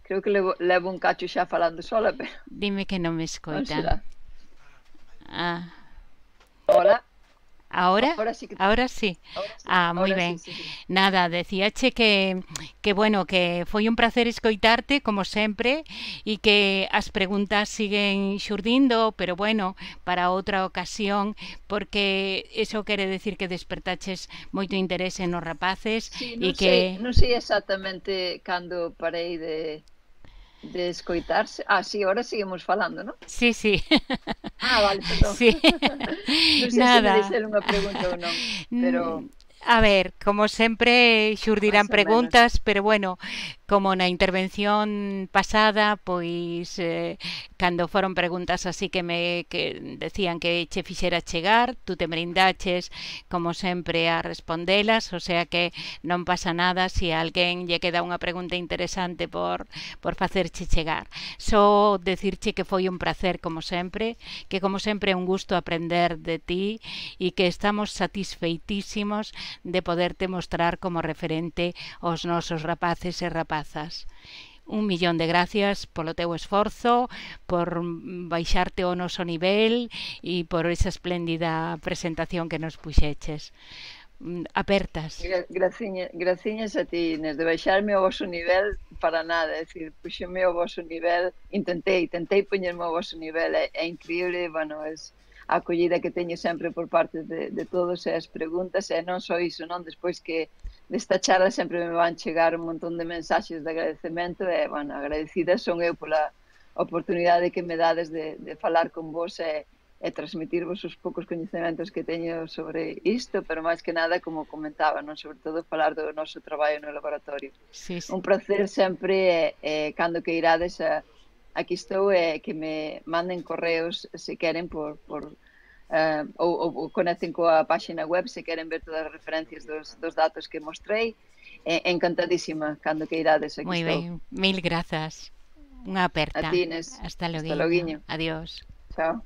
Creo que levo, levo un cacho xa falando sola, pero... Dime que non me escoita. Ah. Hola. Ahora? Ahora sí. Que... Ahora sí. Ahora sí. Ah, moi ben. Sí, sí, sí. Nada, decíache que, que, bueno, que foi un placer escoitarte, como sempre, e que as preguntas siguen xurdindo, pero bueno, para outra ocasión, porque eso quere decir que despertaches moito interese nos rapaces. Sí, e non, que... sei, non sei exactamente cando parei de... de escoitarse. Ah, sí, ahora seguimos falando, ¿no? Sí, sí. Ah, vale, perdón. Sí. Non sei Nada. se me deixar unha pregunta ou non, pero... A ver, como sempre xurdirán preguntas, pero bueno, como na intervención pasada, pois eh, cando foron preguntas así que me que decían que che fixera chegar, tú te brindaches como sempre a respondelas, o sea que non pasa nada se a alguén lle queda unha pregunta interesante por, por facerche chegar. Só decirche que foi un placer como sempre, que como sempre é un gusto aprender de ti e que estamos satisfeitísimos de poderte mostrar como referente aos nosos rapaces e rapazas. Un millón de gracias polo teu esforzo, por baixarte ao noso nivel e por esa espléndida presentación que nos puxeches. Apertas. Gra graciña, graciñas a ti, Inés, de baixarme ao vosso nivel para nada, é dicir, puxeme ao voso nivel, intentei, tentei poñerme ao voso nivel, é, é increíble, bueno, é a acollida que teño sempre por parte de, de todos e as preguntas, e non só iso, non, despois que desta charla sempre me van chegar un montón de mensaxes de agradecemento e, bueno, agradecida son eu pola oportunidade que me dades de, de falar con vos e, e transmitirvos os poucos coñecementos que teño sobre isto, pero máis que nada, como comentaba, non, sobre todo falar do noso traballo no laboratorio. Sí, sí. Un placer sempre, e, e cando que irades a, aquí estou, e que me manden correos se queren por, por Uh, ou, ou, ou conecten coa página web se queren ver todas as referencias dos, dos datos que mostrei. Eh, encantadísima cando que irades aquí. Moi ben, mil grazas. Unha aperta. A ti, Inés. Hasta loguinho. Hasta loguinho. Adiós. Chao.